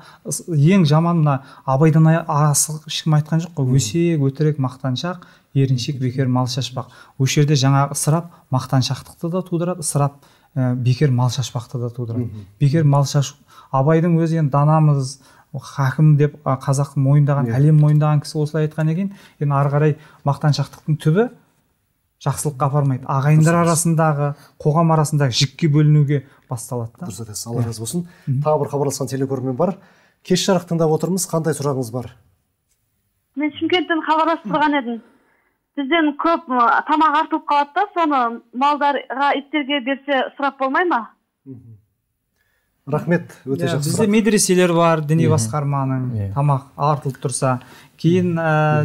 ең жаман мына Абайдан асық ешкім айтқан жоқ қой. Өсек, өтірік, мақтаншақ, еріншек, бекер мал шашпақ. Осы жерде жаңағы ысырап мақтаншақтықты да тудырады, ысырап бекер мал шашпақты да тудырады. Бекер мал шашу. Абайдың өзі енді данамыз, хакім деп қазақтың мойындаған, әлем мойындаған кісі осылай айтқан екен. Енді ары қарай мақтаншақтықтың түбі жақсылыққа апармайды. Ағайындар арасындағы, қоғам арасындағы жікке бөлінуге басталады. Дұрыс айтасыз, Алла разы болсын. Тағы бір хабарласқан телекөрермен бар. Кеш жарық тыңдап отырмыз. Қандай сұрағыңыз бар? Мен Шымкенттен хабарласып тұрған едім. Бізден көп тамақ артылып қалады да, соны малдарға, иттерге берсе ысырап болмай ма? Рахмет, өте жақсы. Бізде медреселер бар, діни басқарманың, тамақ артылып тұрса. Кейін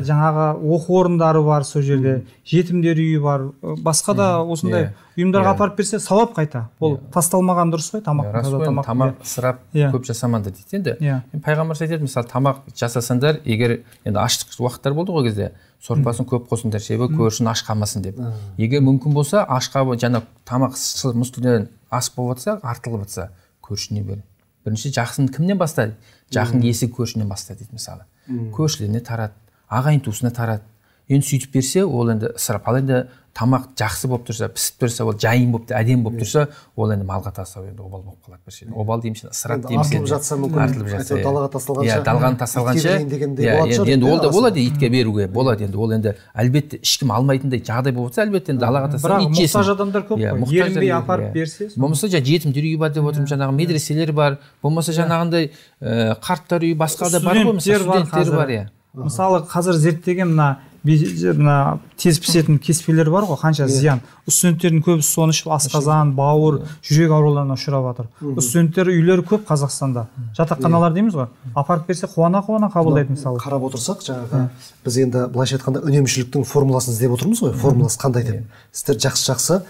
жаңағы оқу орындары бар сол жерде, жетімдер үйі бар, басқа да осындай ұйымдарға апарып берсе сауап қайта. Ол тасталмаған дұрыс қой, тамақ. Тамақ ысырап көп жасамаңдар дейді. Енді пайғамбар айтады, мысалы тамақ жасасаңдар, егер енді аштық уақыттар болды ғой кезде, сорпасын көп қосыңдар, себебі көршің аш қалмасын деп. Егер мүмкін болса, ашқа жаңа тамақ мұстыдан ас болып жатса, артылып жатса, көршіне бер. Бірінші жақсын кімнен бастайды? Жақын есік көршінен бастайды дейді мысалы. Көршілеріне тарат, ағайын туысына тарат. Енді сөйтіп берсе, ол енді ысырап. Ал енді тамақ жақсы болып тұрса, пісіп тұрса, ол жайын болып, әдемі болып тұрса, ол енді малға тастау енді обал болып қалады бір жерде. Обал дейміз, ысырап дейміз. Артылып жатса мүмкін, әйтеуір далаға тасталғанша. Иә, далған тасталғанша. Енді ол да болады итке беруге, болады енді. Ол енді әлбетте ешкім алмайтындай жағдай болып жатса, әлбетте енді далаға тасталған ит жесін. Бірақ мұқтаж адамдар көп қой. Ерінбей апарып берсе. Болмаса жетімдер үйі бар деп отырмын, жаңағы медреселер бар. Болмаса жаңағындай қарттар үйі басқа да бар ғой, мысалы студенттер бар, иә. Мысалы қазір зерттеген мына мына тез пісетін кеспелер бар ғой, қанша зиян. Студенттердің көбісі соны ішіп асқазан, бауыр, жүрек ауруларына ұшырап жатыр. Студенттер үйлері көп Қазақстанда. Жатақханалар дейміз ғой. Апарып берсе қуана-қуана қабылдайды мысалы. Қарап отырсақ, жаңағы біз енді былайша айтқанда үнемшіліктің формуласын іздеп отырмыз ғой. Формуласы қандай деп. Сіздер жақсы-жақсы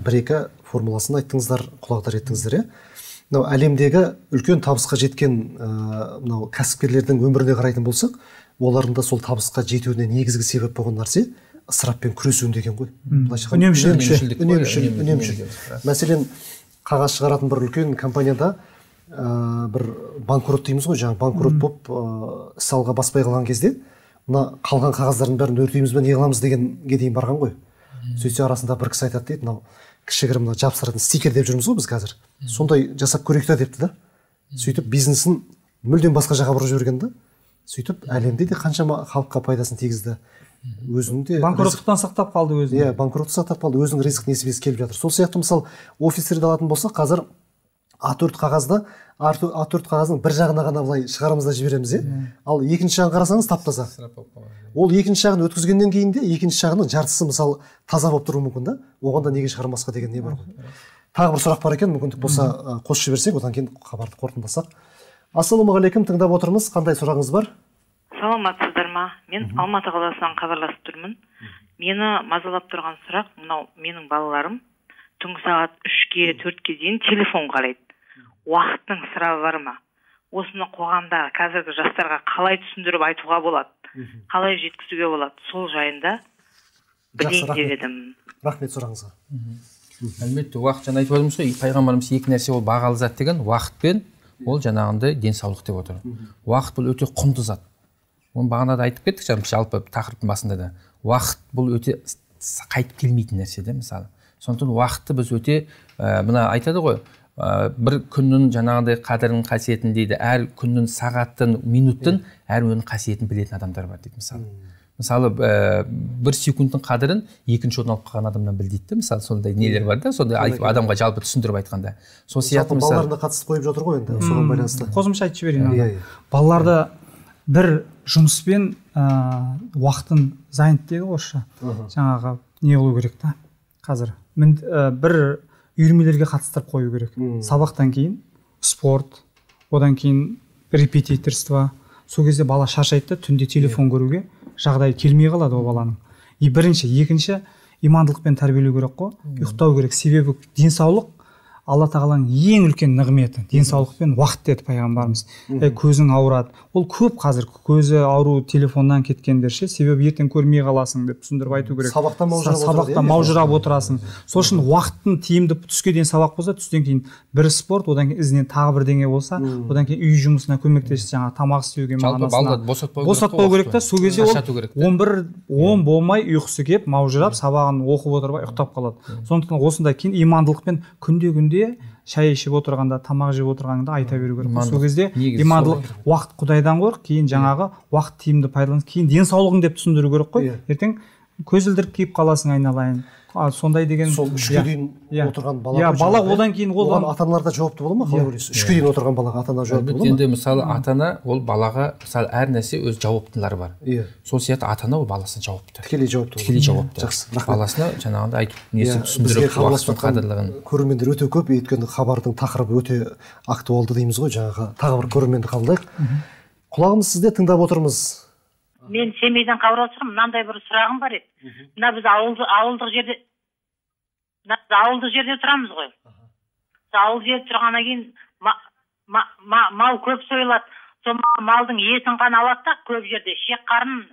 бір-екі формуласын айттыңыздар, құлағдар еттіңіздер, иә? Мынау әлемдегі үлкен табысқа жеткен мынау кәсіпкерлердің өміріне қарайтын болсақ, олардың да сол табысқа жетуіне негізгі себеп болған нәрсе ысыраппен күресу деген ғой. Үнемшілдік. Үнемшілдік. Мәселен, қағаз шығаратын бір үлкен компанияда бір банкрот дейміз ғой, жаңа банкрот болып іс алға баспай қалған кезде, мына қалған қағаздардың бәрін өртейміз бе, не қыламыз дегенге дейін барған ғой. Сөйтсе арасында бір кісі айтады дейді, мынау кішігірім мына жабыстыратын стикер деп жүрміз ғой біз қазір. Сондай жасап көрейік та депті да. Сөйтіп бизнесін мүлдем басқа жаққа бұрып жіберген да. Сөйтіп әлемде де қаншама халыққа пайдасын тигізді. Өзінің де банкроттықтан сақтап қалды өзін. Иә, банкротты сақтап қалды, өзінің ризық несібесі келіп жатыр. Сол сияқты мысалы офистерді алатын болсақ, қазір А төрт қағазды, А төрт қағаздың бір жағына ғана былай шығарамыз да жібереміз, иә. Ал екінші жағын қарасаңыз тап-таза. Ол екінші жағын өткізгеннен кейін де екінші жағының жартысы мысалы таза болып тұруы мүмкін да. Оған да неге шығармасқа деген не бар ғой. Тағы бір сұрақ бар екен, мүмкіндік болса қосып жіберсек, одан кейін хабарды қорытындыласақ. Ассалаумағалейкум, тыңдап отырмыз. Қандай сұрағыңыз бар? Саламатсыздар ма? Мен Алматы қаласынан хабарласып тұрмын. Мені мазалап тұрған сұрақ, мынау менің балаларым түнгі сағат үшке, төртке дейін телефон қарайды. Уақыттың сұрағы бар ма? Осыны қоғамда қазіргі жастарға қалай түсіндіріп айтуға болады? Қалай жеткізуге болады? Сол жайында білейін деп едім. Рахмет сұрағыңызға. Әлбетте, уақыт жаңа айтып отырмыз ғой, пайғамбарымыз екі нәрсе ол бағалы зат деген, уақыт пен ол жаңағындай денсаулық деп отыр. Уақыт бұл өте құнды зат. Оны бағана да айтып кеттік, жалпы тақырыптың басында да. Уақыт бұл өте қайтып келмейтін нәрсе де, мысалы. Сондықтан уақытты біз өте, мына айтады ғой, бір күннің жаңағындай қадірін, қасиетін дейді, әр күннің сағаттың, минуттың әр өнің қасиетін білетін адамдар бар дейді, мысалы. Мысалы, бір секундтың қадірін екінші орын алып қалған адамнан біл дейді, мысалы, сондай нелер бар да, сондай адамға жалпы түсіндіріп айтқанда. Сол сияқты мысалы балаларына қатысты қойып жатыр ғой енді, соған байланысты. Қосымша айтып жіберейін. Балаларды бір жұмыспен уақытын зайнет дейді орысша. Жаңағы не болу керек та қазір. Бір үйірмелерге қатыстырып қою керек. Сабақтан кейін спорт, одан кейін репетиторство. Сол кезде бала шаршайды, түнде телефон көруге жағдай келмей қалады ол баланың. И бірінші, екінші имандылықпен тәрбиелеу керек қой, ұйықтау керек. Себебі денсаулық Алла тағаланың ең үлкен нығметі, денсаулық пен уақыт деді пайғамбарымыз. Көзің ауырады. Ол көп қазір көзі ауру телефоннан кеткендер ше, себебі ертең көрмей қаласың деп түсіндіріп айту керек. Сабақта маужырап Сабақта маужырап отырасың. Сол үшін уақыттың тиімді түске дейін сабақ болса, түстен кейін бір спорт, одан кейін ізінен тағы бірдеңе болса, одан кейін үй жұмысына көмектесіп, жаңа тамақ істеуге, мағынасына босатпау керек та, сол кезде ол он бір он болмай ұйқысы келіп, маужырап, сабағын оқып отырбай ұйықтап қалады. Сондықтан осындай кейін имандылықпен күнде-күнде шай ішіп отырғанда, тамақ жеп отырғанда айта беру керек. Сол кезде имандылық, уақыт Құдайдан қорық, кейін жаңағы уақыт тиімді пайдаланып, кейін денсаулығың деп түсіндіру керек қой. Ертең көзілдіріп киіп қаласың айналайын. Сондай деген сол үшке дейін отырған бала. Иә, бала одан кейін оған ата-аналар да жауапты бола ма? Қалай ойлайсыз? үшке дейін отырған балаға ата-ана жауапты бола ма? Енді мысалы ата-ана ол балаға мысалы әр нәрсе өз жауаптылары бар. Иә. Сол сияқты ата-ана ол баласына жауапты. Тікелей жауапты. Тікелей жауапты. Жақсы. Баласына жаңағындай айтып, несі түсіндіріп, уақыттың қадірлігін. Көрермендер өте көп, өйткені хабардың тақырыбы өте актуалды дейміз ғой, жаңағы тағы бір көрерменді қабылдайық. Құлағымыз сізде, тыңдап отырмыз. Мен Семейден хабарласып, мынандай бір сұрағым бар еді. Мына біз ауылдық жерде ауылдық жерде тұрамыз ғой. Ауыл жерде тұрғаннан кейін мал көп сойылады. Сол малдың етін ғана алады да, көп жерде шек қарын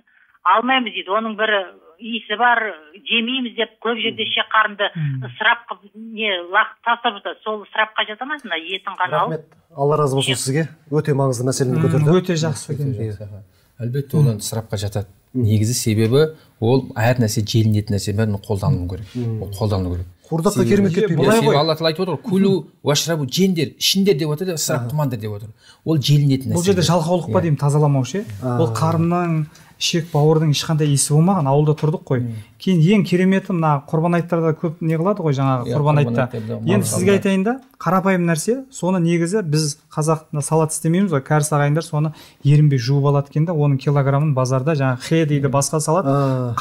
алмаймыз дейді. Оның бір иісі бар, жемейміз деп көп жерде шек қарынды ысырап қылып не лақтырып тастап жатады. Сол ысырапқа жата ма, мына етін ғана алып? Рахмет. Алла разы болсын сізге. Өте маңызды мәселені көтерді. Өте жақсы екен. Әлбетте ол ысырапқа жатады. Негізі себебі ол әр нәрсе желінетін нәрсе бәрін қолдану керек. Ол қолдану керек. Қуырдаққа керемет кетпейді. Алла тағала айтып отыр, күлу уашрабу, жеңдер, ішіндер деп отыр, ысырап қылмаңдар деп отыр. Ол желінетін нәрсе. Бұл жерде жалқаулық па деймін, тазаламау ше. Ол қарынның, ішек бауырдың ешқандай иісі болмаған, ауылда тұрдық қой. кейін ең кереметі мына құрбан айттарда көп не қылады ғой жаңағы құрбан айтта. Енді сізге айтайын да, қарапайым нәрсе, соны негізі біз қазақта салат істемейміз ғой, кәріс ағайындар соны ерінбей жуып алады екен да, оның килограммын базарда жаңағы хе дейді басқа салат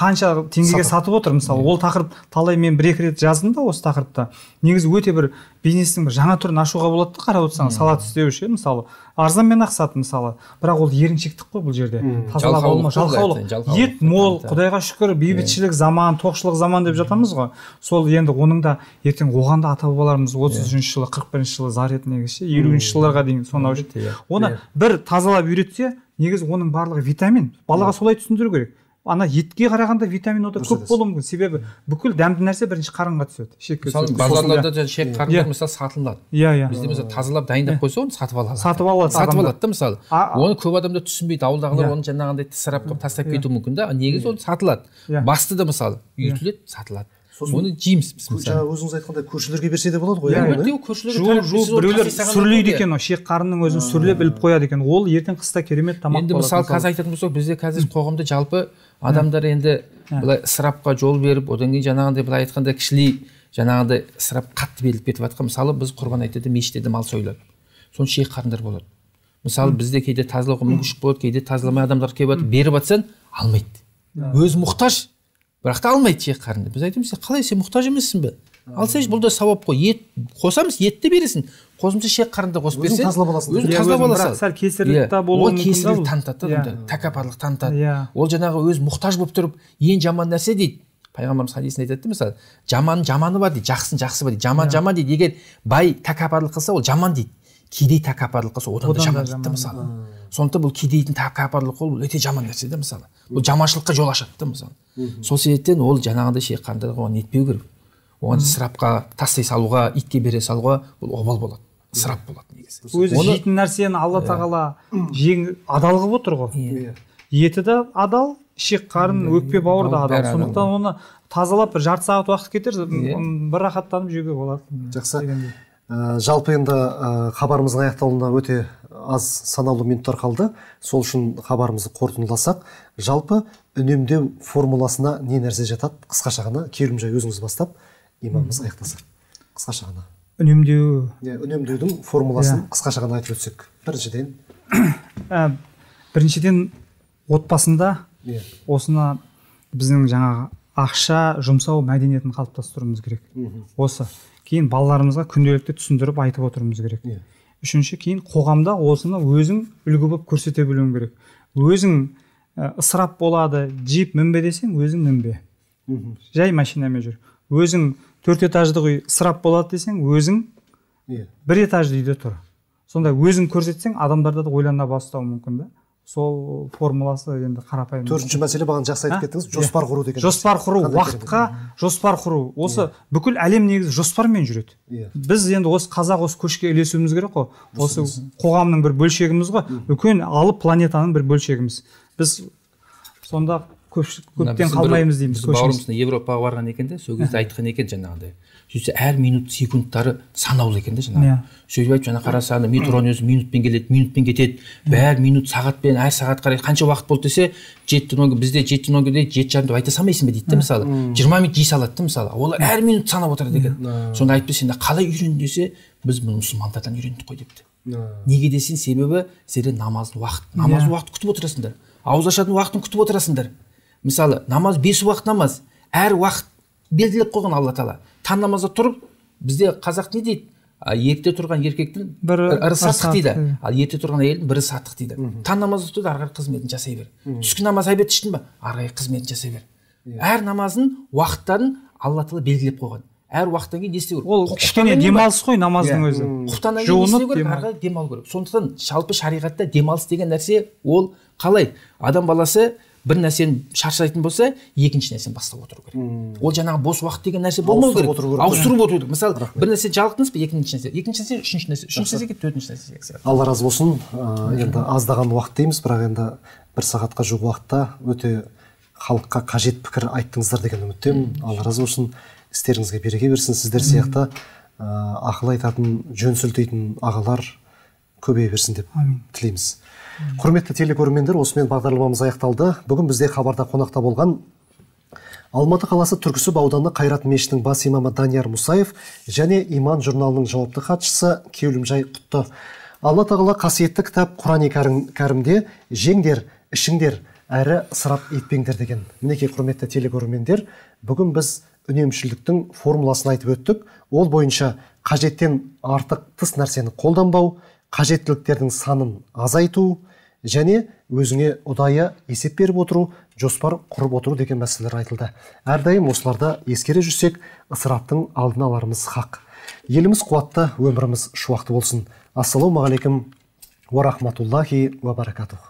қанша теңгеге сатып отыр. Мысалы ол тақырып талай мен бір екі рет жаздым да осы тақырыпта. Негізі өте бір бизнестің бір жаңа түрін ашуға болады да, қарап отырсаң салат істеу үшін мысалы арзанмен ақ сат мысалы, бірақ ол еріншектік қой бұл жерде. Тазалап алма, жалқаулық. Ет мол, Құдайға шүкір, бейбітшілік заман, тоқшылық заман деп жатамыз ғой. Сол енді оның да ертең оған да ата бабаларымыз отыз үшінші жылы, қырық бірінші жылы зар ет негізі, елуінші жылдарға дейін сонау жүрді. Оны бір тазалап үйретсе, негізі оның барлығы витамин. Балаға солай түсіндіру керек. Ана етке қарағанда витамин ода көп болуы мүмкін. Себебі бүкіл дәмді нәрсе бірінші қарынға түседі. Мысалы базарларда шек қарындар мысалы сатылады. Иә, иә. Бізде мысалы тазалап дайындап қойса, оны сатып алады. Сатып алады. Сатып алады да мысалы. Оны көп адамдар түсінбейді. Ауылдағылар оны жаңағындай ысырап қылып тастап кетуі мүмкін да. Негізі ол сатылады. Басты да мысалы үйітіледі, сатылады. Оны жейміз біз мысалы. Жаңа өзіңіз айтқандай көршілерге берсе де болады ғой. Иә, көршілерге біреулер сүрлейді екен, шек қарынның өзін сүрлеп іліп қояды екен. Ол ертең қыста керемет тамақ болады. Енді мысалы қазір айтатын болсақ, бізде қазір қоғамда жалпы адамдар енді былай ысырапқа жол беріп, одан кейін жаңағындай былай айтқанда кішілей жаңағындай ысырап қатты беріліп кетіп жатқан. Мысалы біз құрбан айтады мешітте мал сойылады. Соны шек қарындар болады. Мысалы бізде кейде тазалауға мүмкіншілік болады, кейде тазаламай адамдар келіп жатыр, беріп жатсаң алмайды. Өзі мұқтаж, бірақ та алмайды шек қарынды. Біз айтамыз, қалай сен мұқтаж емессің бе? Алсайшы, бұл да сауап қой. Ет қосамыз, етті бересің. Қосымша шек қарынды қосып берсең, өзің тазалап аласың. Сәл кесірлік та болуы мүмкін. Ол кесірлік танытады, тәкаппарлық танытады. Ол жаңағы өз мұқтаж болып тұрып, ең жаман нәрсе дейді. Пайғамбарымыз хадисінде айтады, мысалы, жаман жаманы бар дейді, жақсын жақсы бар дейді. Жаман жаман дейді. Егер бай тәкаппарлық қылса, ол жаман дейді. Кедей тәкаппарлық қылса, одан да жаман дейді, мысалы. Сондықтан бұл кедейдің тәкаппарлық ол өте жаман нәрсе де, мысалы. Бұл жаманшылыққа жол ашады да, мысалы. Сол себептен ол жаңағындай шек қарындарға оған нетпеу керек. Оған ысырапқа тастай салуға, итке бере салуға бұл обал болады. Ысырап болады негізі. Өзі жейтін нәрсені Алла тағала адал қылып отыр ғой. Еті де адал, шек қарын, өкпе бауыр да адал. Сондықтан оны тазалап бір жарты сағат уақыт кетер, бір рахаттанып жеуге болады. Жақсы. Жалпы енді хабарымыздың аяқталуына өте аз санаулы минуттар қалды. Сол үшін хабарымызды қорытындыласақ, жалпы үнемдеу формуласына не нәрсе жатады? Қысқаша ғана, Керімжай өзіңіз бастап, имамымыз аяқтаса. Қысқаша ғана. Үнемдеу. Үнемдеудің формуласын қысқаша ғана айтып өтсек. Біріншіден. Біріншіден отбасында осыны біздің жаңағы ақша жұмсау мәдениетін қалыптастыруымыз керек. Осы. Кейін балаларымызға күнделікті түсіндіріп айтып отыруымыз керек. Үшінші, кейін қоғамда осыны өзің үлгі болып көрсете білуің керек. Өзің ысырап болады, джип мінбе десең, өзің мінбе. Жай машинамен жүр. Өзің төрт этажды үй ысырап болады десең, өзің бір этажды үйде тұр. Сонда өзің көрсетсең, адамдарда да ойлана бастауы мүмкін да. Сол формуласы енді қарапайым. Төртінші мәселе бағана жақсы айтып кеттіңіз, жоспар құру деген. Жоспар құру, уақытқа жоспар құру. Осы бүкіл әлем негізі жоспармен жүреді. Біз енді осы қазақ осы көшке ілесуіміз керек қой. Осы қоғамның бір бөлшегіміз ғой. Үлкен алып планетаның бір бөлшегіміз. Біз сонда көптен қалмаймыз дейміз. Бауырымыз Европаға барған екен де, сол кезде айтқан екен жаңағыдай. Сөйтсе әр минут секундтары санаулы екен де жаңағы. Сөйтіп айтып жаңа қарасаны метроның өзі минутпен келеді, минутпен кетеді. Бәр минут сағатпен, әр сағат қарай қанша уақыт болды десе, жеті нөл бізде жеті нөл дейді, жеті жарым деп айта салмайсың ба дейді да мысалы. жиырма минут жей салады да мысалы. Ол әр минут санап отырады екен. Сонда айтып сен қалай үйрен десе, біз мұны мұсылмандардан үйрендік қой депті. Неге десең, себебі сендер намаздың уақыт, намаздың уақытын күтіп отырасыңдар. Ауыз ашатын уақытын күтіп отырасыңдар. Мысалы, намаз бес уақыт намаз, әр уақыт белгілеп қойған Алла тағала. Таң намазда тұрып, бізде қазақ не дейді? Ерте тұрған еркектің бірі саттық дейді. Ал ерте тұрған әйелдің бірі саттық дейді. Таң намазда тұрды, ары қарай қызметін жасай бер. Түскі намаз әбет іштің ба? Ары қарай қызметін жасай бер. Әр намазын, уақыттарын Алла тағала белгілеп қойған. Әр уақыттан кейін не істеу керек? Ол кішкене демалыс қой намаздың өзі. Құптаннан кейін не істеу керек? Ары қарай демалу керек. Сондықтан жалпы шариғатта демалыс деген нәрсе ол қалай? Адам баласы бір нәрсені шаршайтын болса, екінші нәрсені бастап отыру керек. Ол жаңағы бос уақыт деген нәрсе болмау керек. Ауыстырып отыру керек. Мысалы, бір нәрсе жалықтыңыз ба, екінші нәрсе, екінші нәрсе, үшінші нәрсе, үшінші нәрсеге, төртінші нәрсеге. Алла разы болсын. Енді аздаған уақыт дейміз, бірақ енді бір сағатқа жуық уақытта өте халыққа қажет пікір айттыңыздар деген үміттемін. Алла разы болсын. Істеріңізге береке берсін. Сіздер сияқты ақыл айтатын, жөн сілтейтін ағалар көбейе берсін деп тілейміз. Құрметті телекөрермендер, осымен бағдарламамыз аяқталды. Бүгін бізде хабарда қонақта болған Алматы қаласы Түркісіб ауданы Қайрат мешітінің бас имамы Данияр Мұсаев және Иман журналының жауапты хатшысы Кеулімжай Құтты. Алла тағала қасиетті кітап Құран-ы Кәрімде жеңдер, ішіңдер, әрі ысырап етпеңдер деген. Мінекей құрметті телекөрермендер, бүгін біз үнемшілдіктің формуласын айтып өттік. Ол бойынша қажеттен артық тыс нәрсені қолданбау, қажеттіліктердің санын азайту және өзіңе ұдайы есеп беріп отыру, жоспар құрып отыру деген мәселелер айтылды. Әрдайым осыларда ескере жүрсек, ысыраптың алдын аларымыз хақ. Еліміз қуатты, өміріміз шуақты болсын. Ассаламу алейкум ва рахматуллахи ва баракатух.